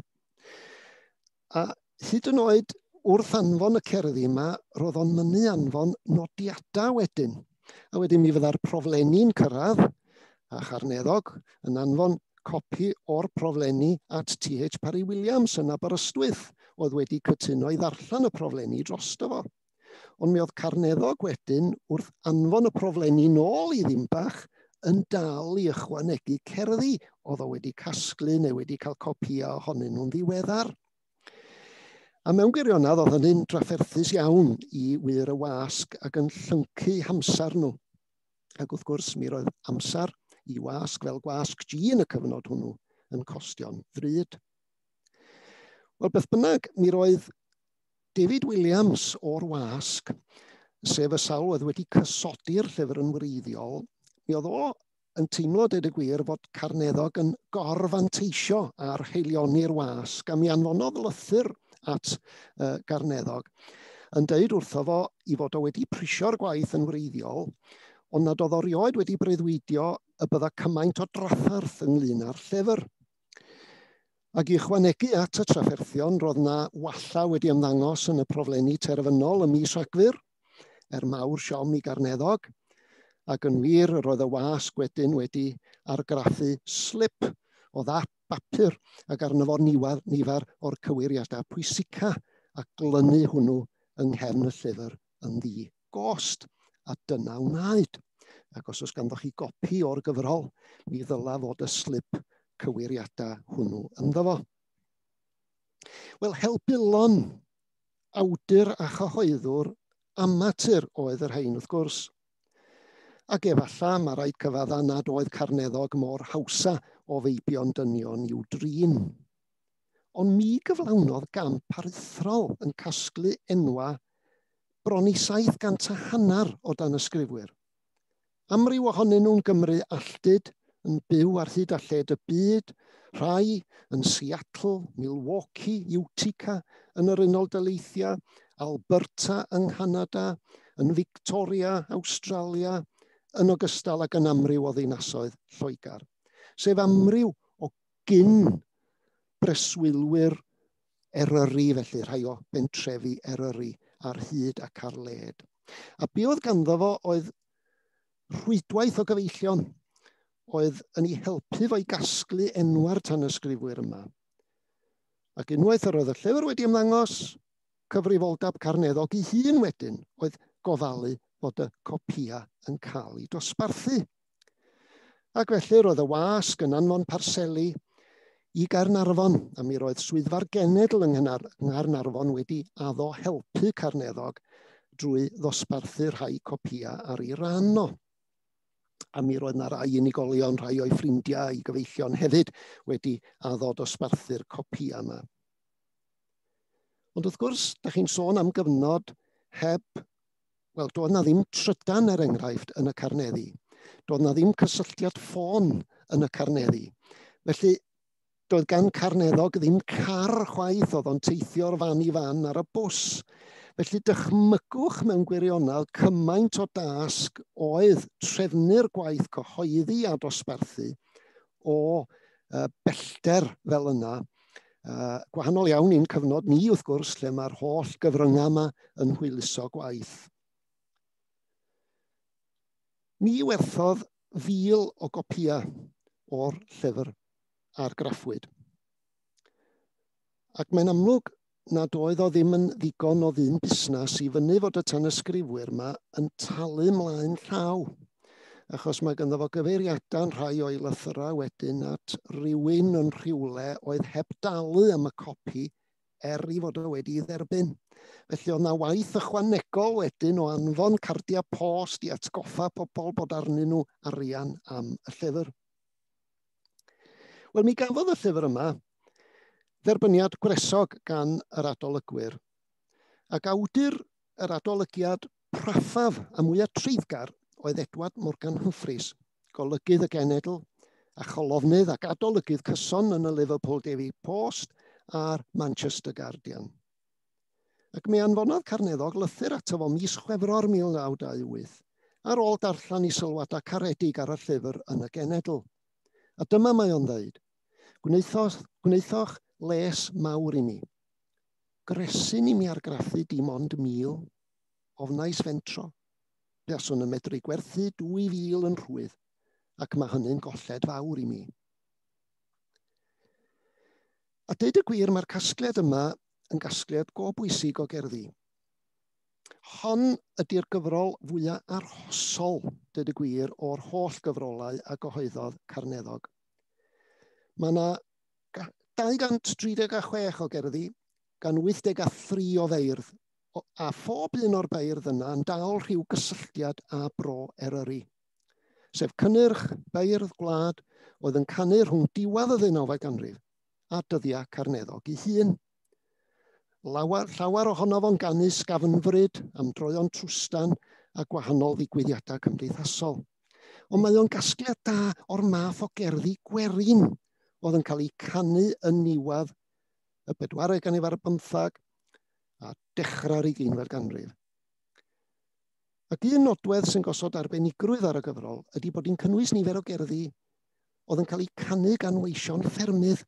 A hyd yn oed wrth anfon y cerddi yma, roedd o'n mynnu anfon nodiadau wedyn. A wedyn mi fydda'r proflenni'n cyrraedd, a Charneddog yn anfon copi o'r proflenni at T H Parry Williams yn Aberystwyth, oedd wedi cytuno i ddarllen y proflenni drosto fo. Ond mi oedd Carneddog wedyn wrth anfon y proflenni nôl i Ddinbach yn dal i ychwanegu cerddi oedd o wedi casglu neu wedi cael copïau ohonyn nhw'n ddiweddar. A mewn gwirionedd oedd hynny'n drafferthus iawn i wyr y wasg ac yn llyncu hamser nhw. Ac wrth gwrs mi roedd amser i wasg fel gwasg G yn y cyfnod hwnnw yn costio'n ddrud. Wel, beth bynnag, mi roedd David Williams o'r wasg, sef y sawl oedd wedi cysodi'r llyfr yn wreiddiol, mi oedd o yn teimlo, dweud y gwir, fod Carneddog yn gorfanteisio ar haelioni'r wasg, a mi anfonodd lythyr at uh, Garneddog yn deud wrtho fo i fod o wedi prisio'r gwaith yn wreiddiol, ond nad oedd o rioed wedi breuddwydio y bydda cymaint o drafferth ynglyn â'r llyfr. Ac i ychwanegu at y trafferthion, roedd na walla wedi ymddangos yn y proflenni terfynol ym mis Rhagfyr, er mawr siom i Garneddog, ac yn wir roedd y wasg wedyn wedi argraffu slip o ddap bapur ac arno fo nifer, nifer o'r cywiriadau pwysica a glynu hwnnw yng nghefn y llyfr yn ddi-gost. A dyna wnaed. Ac os oes ganddoch chi gopi o'r gyfrol, mi ddyla fod y slip cywiriadau hwnnw ynddo fo. Wel, helbulon, awdur a chyhoeddwr amatur oedd yr rhain wrth gwrs. Ac efallai mae rhaid cyfadda nad oedd Carneddog mor hawsa o feibion dynion i'w drin. Ond mi gyflawnodd gamp aruthrol yn casglu enwa bron i saith gant a hanner o danysgrifwyr. Amryw ohonyn nhw'n Gymru alltud, yn byw ar hyd a lled y byd, rhai yn Seattle, Milwaukee, Utica yn yr Unol Daleithiau, Alberta yng Nghanada, yn Victoria, Awstralia, yn ogystal ag yn amryw o ddinasoedd Lloegr. Sef amryw o gyn breswylwyr Eryri, felly rhai o bentrefi Eryri ar hyd ac ar led. A be oedd ganddo fo oedd rhwydwaith o gyfeillion oedd yn ei helpu fo i gasglu enwa'r tanysgrifwyr yma. Ac unwaith yr oedd y llyfr wedi ymddangos, cyfrifoldeb Carneddog ei hun wedyn oedd gofalu fod y copïau yn cael eu dosbarthu. Ac felly roedd y wasg yn anfon parseli i Gaernarfon, a mi roedd swyddfa'r genedl yng Nghaernarfon wedi addo helpu Carneddog drwy ddosbarthu rhai copïau ar ei ran o. A mi roedd na rai unigolion, rhai o'i ffrindiau, i gyfeillion hefyd wedi addo dosbarthu'r copïau yma. Ond wrth gwrs, da chi'n sôn am gyfnod heb, wel, doedd na ddim trydan er enghraifft yn y Carneddi. Doedd na ddim cysylltiad ffôn yn y Carneddi. Felly, doedd gan Carneddog ddim car chwaith, oedd o'n teithio'r fan i fan ar y bws. Felly dychmygwch mewn gwirionedd cymaint o dasg oedd trefnu'r gwaith cyhoeddi a dosbarthu o uh, bellter fel yna. Uh, gwahanol iawn i'n cyfnod ni wrth gwrs, lle mae'r holl gyfryngau yma yn hwyluso gwaith. Mi werthodd fil o gopïau o'r llyfr argraffwyd. Ac mae'n amlwg nad oedd o ddim yn ddigon o ddyn busnes i fyny fod y tanysgrifwyr yma yn talu mlaen llaw. achos mae ganddo fo gyfeiriadau'n rhai o'i lythyrau wedyn at rywun yn rhywle oedd heb dalu am y copi er i fod o wedi dderbyn. Felly oedd na waith ychwanegol wedyn o anfon cardiau post i atgoffa pobl bod arnyn nhw arian am y llyfr. Wel, mi gafodd y llyfr yma dderbyniad gwresog gan yr adolygwyr, ac awdur yr adolygiad praffaf a mwyaf treiddgar oedd Edward Morgan Humphreys, golygydd y Genedl a cholofnydd ac adolygydd cyson yn y Liverpool Daily Post a'r Manchester Guardian. Ac mi anfonodd Carneddog lythyr ato fo mis Chwefror mil naw dau wyth, ar ôl darllen ei sylwadau caredig ar y llyfr yn y Genedl. A dyma mae o'n dweud, gwnaethoch, gwnaethoch les mawr i mi. Gresyn i mi argraffu dim ond mil, ofnais fentro. Buaswn yn medru gwerthu dwy fil yn rhwydd, ac mae hynny'n golled fawr i mi. A deud y gwir, mae'r casgliad yma yn gasgliad go bwysig o gerddi. Hon ydy'r gyfrol fwyaf arhosol, deud y gwir, o'r holl gyfrolau a gyhoeddodd Carneddog. Mae yna dau gant tri deg a chwech o gerddi gan wyth deg a thri o feirdd, a phob un o'r beirdd yna yn dal rhyw gysylltiad â bro Eryri, sef cynnyrch beirdd gwlad oedd yn canu rhwng diwedd y ddeunawfed ganrif a dyddiau Carneddog ei hun. Lawer, llawer ohono fo'n ganu sgafnfryd am droeon trwstan a gwahanol ddigwyddiadau cymdeithasol. Ond mae o'n gasgliad da o'r math o gerddi gwerin oedd yn cael eu canu yn niwedd y bedwaredd ganrif ar bymthag a dechrau'r ugeinfed ganrif. Ac un nodwedd sy'n gosod arbenigrwydd ar y gyfrol ydy bod hi'n cynnwys nifer o gerddi oedd yn cael eu canu gan weision ffermydd,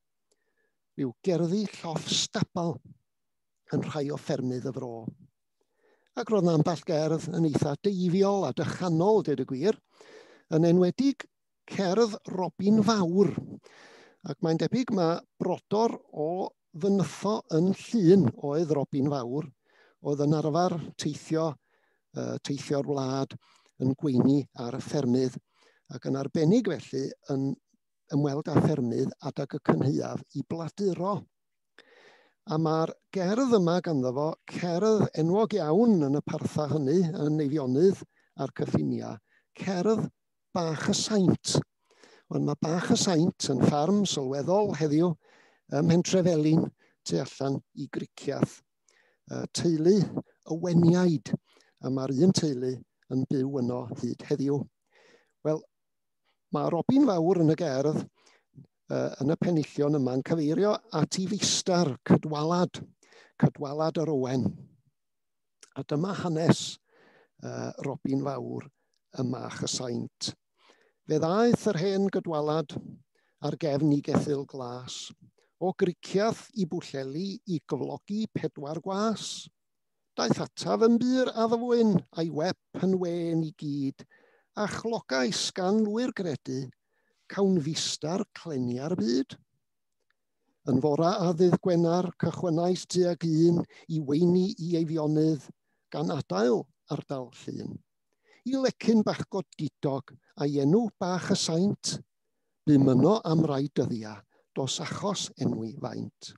rhyw gerddi lloff stabal yn rhai o ffermydd y fro. Ac roedd 'na ambell gerdd yn eitha deifiol a dychanol, dweud y gwir, yn enwedig cerdd Robin Fawr. Ac mae'n debyg mae brodor o Fynytho yn Llŷn oedd Robin Fawr, oedd yn arfer teithio, uh, teithio'r wlad yn gweini ar y ffermydd, ac yn arbennig felly yn ymweld â ffermydd adag y cynhaeaf i bladuro. A mae'r gerdd yma ganddo fo, cerdd enwog iawn yn y parthau hynny, yn Eifionydd a'r cyffiniau, cerdd Bach y Saint. Ond mae Bach y Saint yn ffarm sylweddol heddiw ym Mhentrefelin tu allan i Griciath. Teulu y Weniaid, a mae'r un teulu yn byw yno hyd heddiw. Wel, mae Robin Fawr yn y gerdd, yn y penillion yma'n cyfeirio at ei feistr Cydwalad, Cydwalad yr Owen. A dyma hanes uh, Robin Fawr ym Mach y Saint. Fe ddaeth yr hen Gydwalad ar gefn i geffyl glas, o Griciath i Bwllheli i gyflogi pedwar gwas. Daeth ataf yn bur addfwyn a'i wep yn wên i gyd, a chlogais gan lwyr gredu, cawn fistar clenia'r byd. Yn fora a ddydd Gwener, cychwynnais tuag un i weini i Eifionydd, gan adael ardal Llŷn. I lecyn bach godidog a'i enw Bach y Saint, bum yno am rai dyddiau, dos achos enwi faint.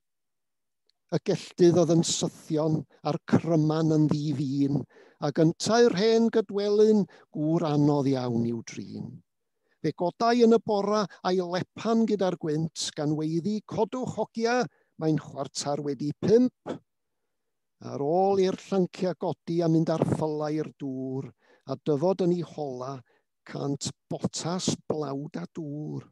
Y gelltydd oedd yn sythion a'r cryman yn ddi-fin, ac yntau'r hen Gydwelyn gŵr anodd iawn i'w drin. Fe godai yn y bora a'i lepan gyda'r gwynt, gan weiddi codwch hogia, mae'n chwarter wedi pump. Ar ôl i'r llancia godi a mynd ar ffylau i'r dŵr, a dyfod yn ei hola, cant botas blawd a dŵr.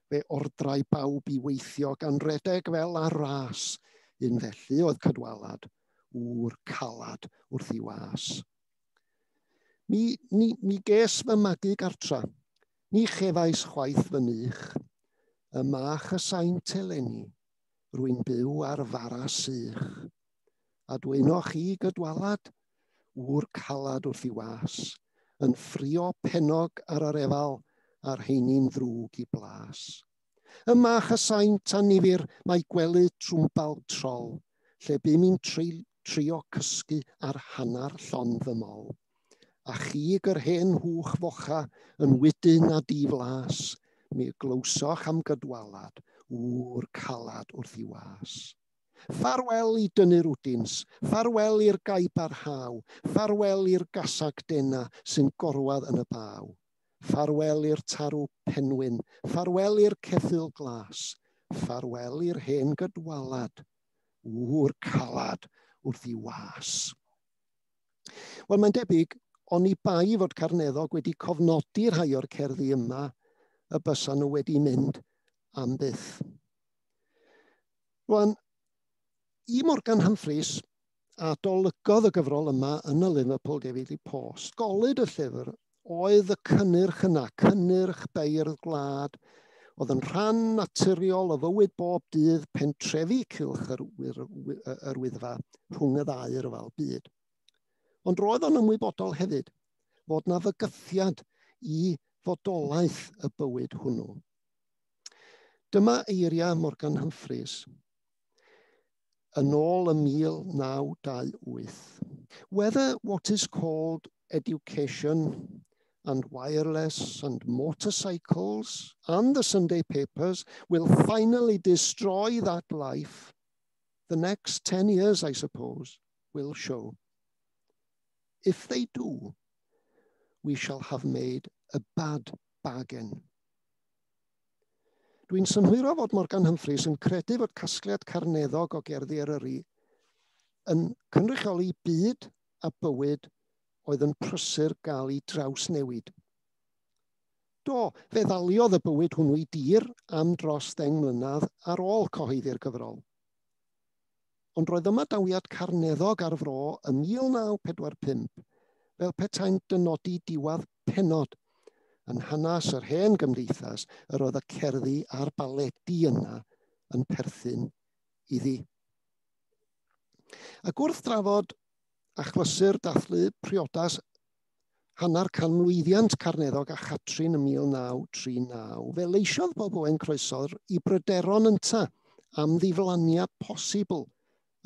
Fe ordrai bawb i weithio gan redeg fel ar ras, un felly oedd Cydwalad, ŵr calad wrth ei was. Mi, mi, mi ges fy magu gartra, ni chefais chwaith fy nych, y Mach y Saint eleni, rwy'n byw ar fara sych. A dwynoch chi Gydwalad, ŵr calad wrth ei was, yn ffrio pennog ar yr efal, a'r heini'n ddrwg i blas. Y Mach y Saint a nifyr mae gwely trwmbal trol, lle bum i'n trio cysgu ar hanner llond fy mol. A chig yr hen hwch focha yn wydyn a diflas, mi glywsoch am gydwalad, ŵr calad wrth i was. Ffarwel i dynnu'r wdins, ffarwel i'r gaib ar haw, ffarwel i'r gasag dena sy'n gorwedd yn y baw. Ffarwel i'r tarw penwyn, ffarwel i'r ceffyl glas, ffarwel i'r hen gydwalad, ŵr calad wrth i was. Wel, mae'n debyg, oni bai fod Carneddog wedi cofnodi rhai o'r cerddi yma, y bysa nhw wedi mynd am byth. Rwan, i Morgan Humphreys, adolygodd y gyfrol yma yn y Liverpool Daily Post. Golud y llyfr oedd y cynnyrch yna, cynnyrch beirdd gwlad, oedd yn rhan naturiol o fywyd bob dydd pentrefi cylch yr, yr, yr Wyddfa rhwng y ddau ryfel byd. Ond roedd o'n ymwybodol hefyd fod na fygythiad i fodolaeth y bywyd hwnnw. Dyma eiriau Morgan Humphreys yn ôl ym mil naw dau wyth. Whether what is called education and wireless and motorcycles and the Sunday papers will finally destroy that life, the next ten years, I suppose, will show. If they do, we shall have made a bad bargain. Dwi'n synhwyro fod Morgan Humphreys yn credu fod casgliad Carneddog o gerddi Eryri yn cynrychioli byd a bywyd oedd yn prysur gael ei drawsnewid. Do, fe ddaliodd y bywyd hwnnw i dir am dros ddeng mlynedd ar ôl cyhoeddi'r gyfrol. Ond roedd ymadawiad Carneddog ar fro ym mil naw pedwar pump fel petai'n dynodi diwedd pennod yn hanes yr hen gymdeithas yr oedd y cerddi a'r baledi yna yn perthyn iddi. Ac wrth drafod achlysur dathlu priodas hanner canmlwyddiant Carneddog a Chatrin ym mil naw tri naw, fe leisiodd Bob Owen Croesor i bryderon ynta am ddiflaniad posibl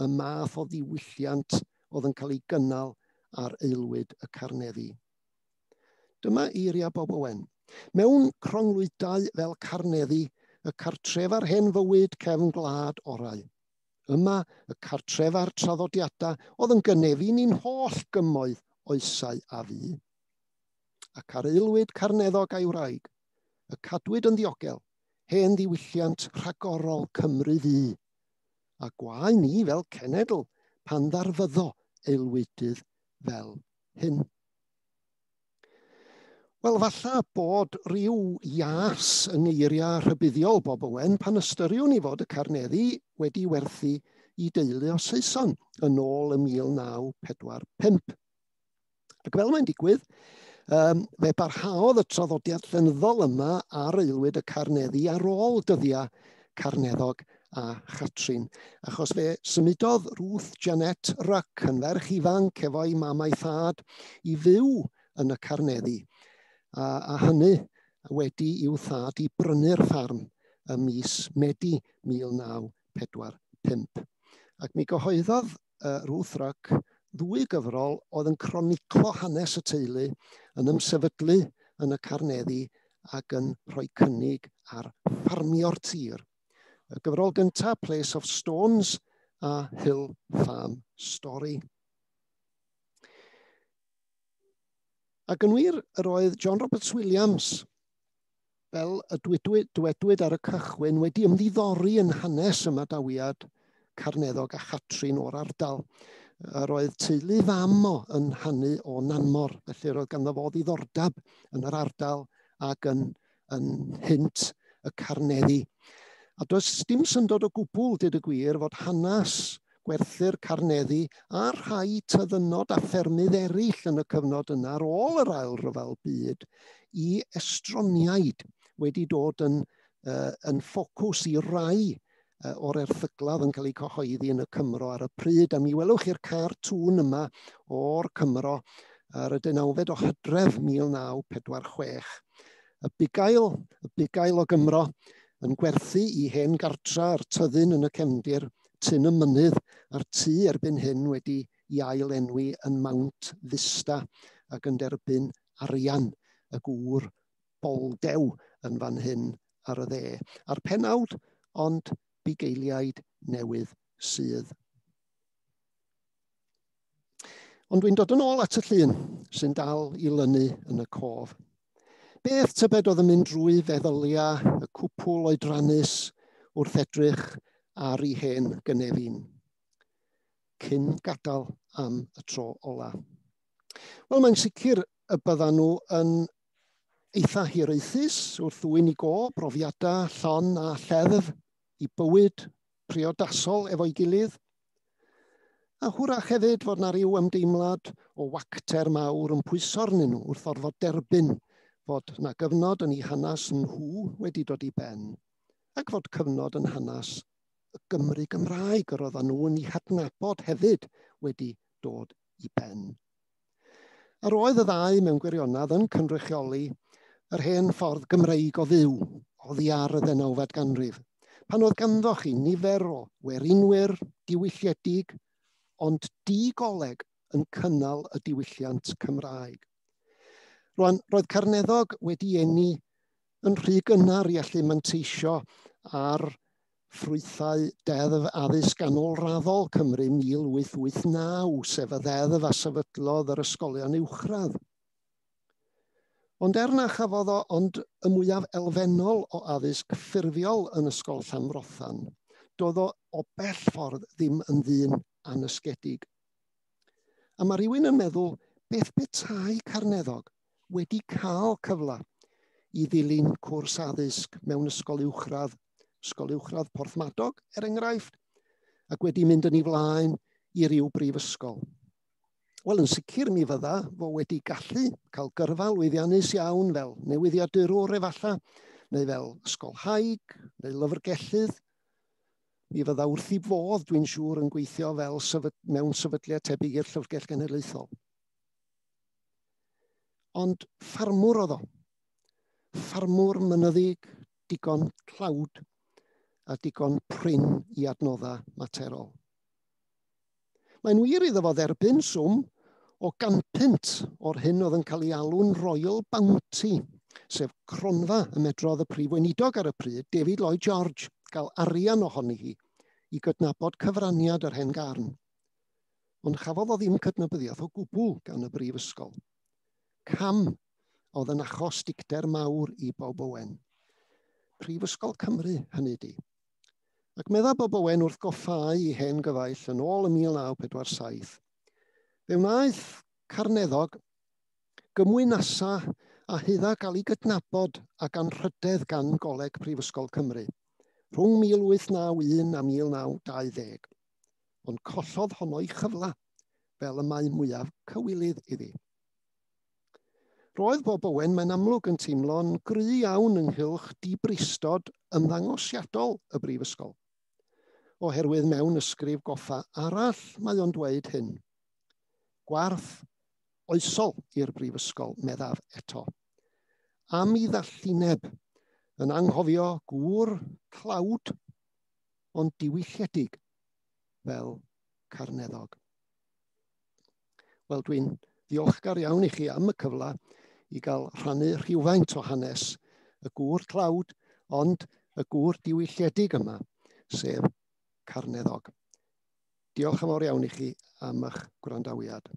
y math o ddiwylliant oedd yn cael ei gynnal ar aelwyd y Carneddi. Dyma eiriau Bob Owen. Mewn cronglwydau fel Carneddi, y cartrefa'r hen fywyd cefn gwlad orau. Yma, y cartrefa'r traddodiadau oedd yn gynefin i'n holl gymoedd oesau a fu. Ac ar aelwyd Carneddog a'i wraig, y cadwyd yn ddiogel, hen ddiwylliant rhagorol Cymru ddu. A gwae ni fel cenedl pan ddarfyddo aelwydydd fel hyn. Wel, falla bod rhyw ias yng ngeiriau rhybuddiol Bob Owen pan ystyriwn ni fod y Carneddi wedi werthu i deulu o Saeson yn ôl ym mil naw pedwar pump. Ac fel mae'n digwydd, um, fe barhaodd y traddodiad llenyddol yma ar aelwyd y Carneddi ar ôl dyddiau Carneddog a Chatrin, achos fe symudodd Ruth Janet Ruck yn ferch ifanc efo'i mam a'i thad i fyw yn y Carneddi, a, a hynny wedi i'w thad i brynu'r ffarm ym mis Medi mil naw pedwar pump. Ac mi gyhoeddodd uh, Ruth Ruck ddwy gyfrol oedd yn croniclo hanes y teulu, yn ymsefydlu yn y Carneddi ac yn rhoi cynnig ar ffarmio'r tir. Y gyfrol gyntaf, Place of Stones a Hill Farm Story. Ac yn wir, yr oedd John Roberts Williams, fel y dwedwyd, dwedwyd ar y cychwyn, wedi ymddiddori yn hanes ymadawiad Carneddog a Chatrin o'r ardal. Yr oedd teulu fam o yn hanu o Nanmor, felly yr oedd ganddo fo ddiddordeb yn yr ardal ac yn, yn hynt y Carneddi. A does dim syndod o gwbl, dweud y gwir, fod hanes gwerthu'r Carneddi a rhai tyddynod a ffermydd eraill yn y cyfnod yna ar ôl yr Ail Ryfel Byd i estroniaid wedi dod yn, uh, yn ffocws i rai uh, o'r erthyglau yn cael eu cyhoeddi yn y Cymro ar y pryd. A mi welwch chi'r cartŵn yma o'r Cymro ar y deunawfed o Hydref mil naw pedwar chwech. Y bugail, y bugail o Gymro yn gwerthu i hen gartra a'r tyddyn yn y cefndir, Tyn y Mynydd, a'r tŷ erbyn hyn wedi i ail enwi yn Mount Vista, ac yn derbyn arian y gŵr boldew yn fan hyn ar y dde. A'r penawd, ond bugeiliaid newydd sydd. Ond dwi'n dod yn ôl at y llun sy'n dal i lynu yn y cof. Beth tybed oedd yn mynd drwy feddyliau y cwpwl oedrannus wrth edrych ar ei hen gynefin, cyn gadael am y tro ola? Wel, mae'n sicr y byddan nhw yn eitha hiraethus wrth ddwyn i go brofiadau llon a lleddf i bywyd priodasol efo'i gilydd. A hwrach hefyd fod na ryw ymdeimlad o wacter mawr yn pwyso arnyn nhw wrth orfod derbyn fod na gyfnod yn eu hanes nhw wedi dod i ben, ac fod cyfnod yn hanes y Gymru Gymraeg yr oedden nhw yn ei hadnabod hefyd wedi dod i ben. Yr oedd y ddau mewn gwirionedd yn cynrychioli yr hen ffordd Gymreig o fyw oddi ar y ddeunawfed ganrif, pan oedd ganddo chi nifer o werinwyr diwylliedig, ond digoleg yn cynnal y diwylliant Cymraeg. Rwan, roedd Carneddog wedi eni yn rhy gynnar i allu manteisio ar ffrwythau Deddf Addysg Ganolraddol Cymru mil wyth wyth naw, sef y ddeddf a sefydlodd yr ysgolion uwchradd. Ond er na chafodd o ond y mwyaf elfennol o addysg ffurfiol yn Ysgol Llanfrothan, doedd o o bell ffordd ddim yn ddyn anysgedig. A mae rhywun yn meddwl, beth petai Carneddog wedi cael cyfle i ddilyn cwrs addysg mewn ysgol uwchradd, ysgol uwchradd Porthmadog, er enghraifft, ac wedi mynd yn ei flaen i ryw brifysgol. Wel, yn sicr mi fydda fo wedi gallu cael gyrfa lwyddiannus iawn fel newyddiadurwr efallai, neu fel ysgolhaig, neu lyfrgellydd. Mi fydda wrth ei fodd, dwi'n siŵr, yn gweithio fel sefyd, mewn sefydliad tebyg i'r Llyfrgell Genedlaethol. Ond ffarmwr oedd o. Ffarmwr mynyddig, digon tlawd a digon prin i adnoddau materol. Mae'n wir iddo fo dderbyn swm o ganpunt o'r hyn oedd yn cael ei alw'n Royal Bounty, sef cronfa y medrodd y prif weinidog ar y pryd, David Lloyd George, gael arian ohoni hi i gydnabod cyfraniad yr hen garn. Ond chafodd o ddim cydnabyddiaeth o gwbl gan y brifysgol. Cam oedd yn achos dicter mawr i Bob Owen. Prifysgol Cymru, hynny di. Ac medda Bob Owen wrth goffau i hen gyfaill yn ôl ym mil naw pedwar saith. Fe wnaeth Carneddog gymwynasa a hydda gael ei gydnabod ac anrhydedd gan Goleg Prifysgol Cymru rhwng mil wyth naw un a mil naw dau ddeg. Ond collodd honno ei chyfla fel y mae mwyaf cywilydd iddi. Roedd Bob Owen mae'n amlwg yn teimlo'n gry iawn ynghylch dibristod ymddangosiadol y brifysgol. Oherwydd mewn ysgrif goffa arall mae o'n dweud hyn. Gwarth oesol i'r brifysgol, meddaf eto. Am i ddallineb yn anghofio gŵr tlawd ond diwylliedig fel Carneddog. Wel, dwi'n ddiolchgar iawn i chi am y cyfle i gael rhannu rhywfaint o hanes y gŵr tlawd, ond y gŵr diwylliedig yma, sef Carneddog. Diolch yn fawr iawn i chi am eich gwrandawiad.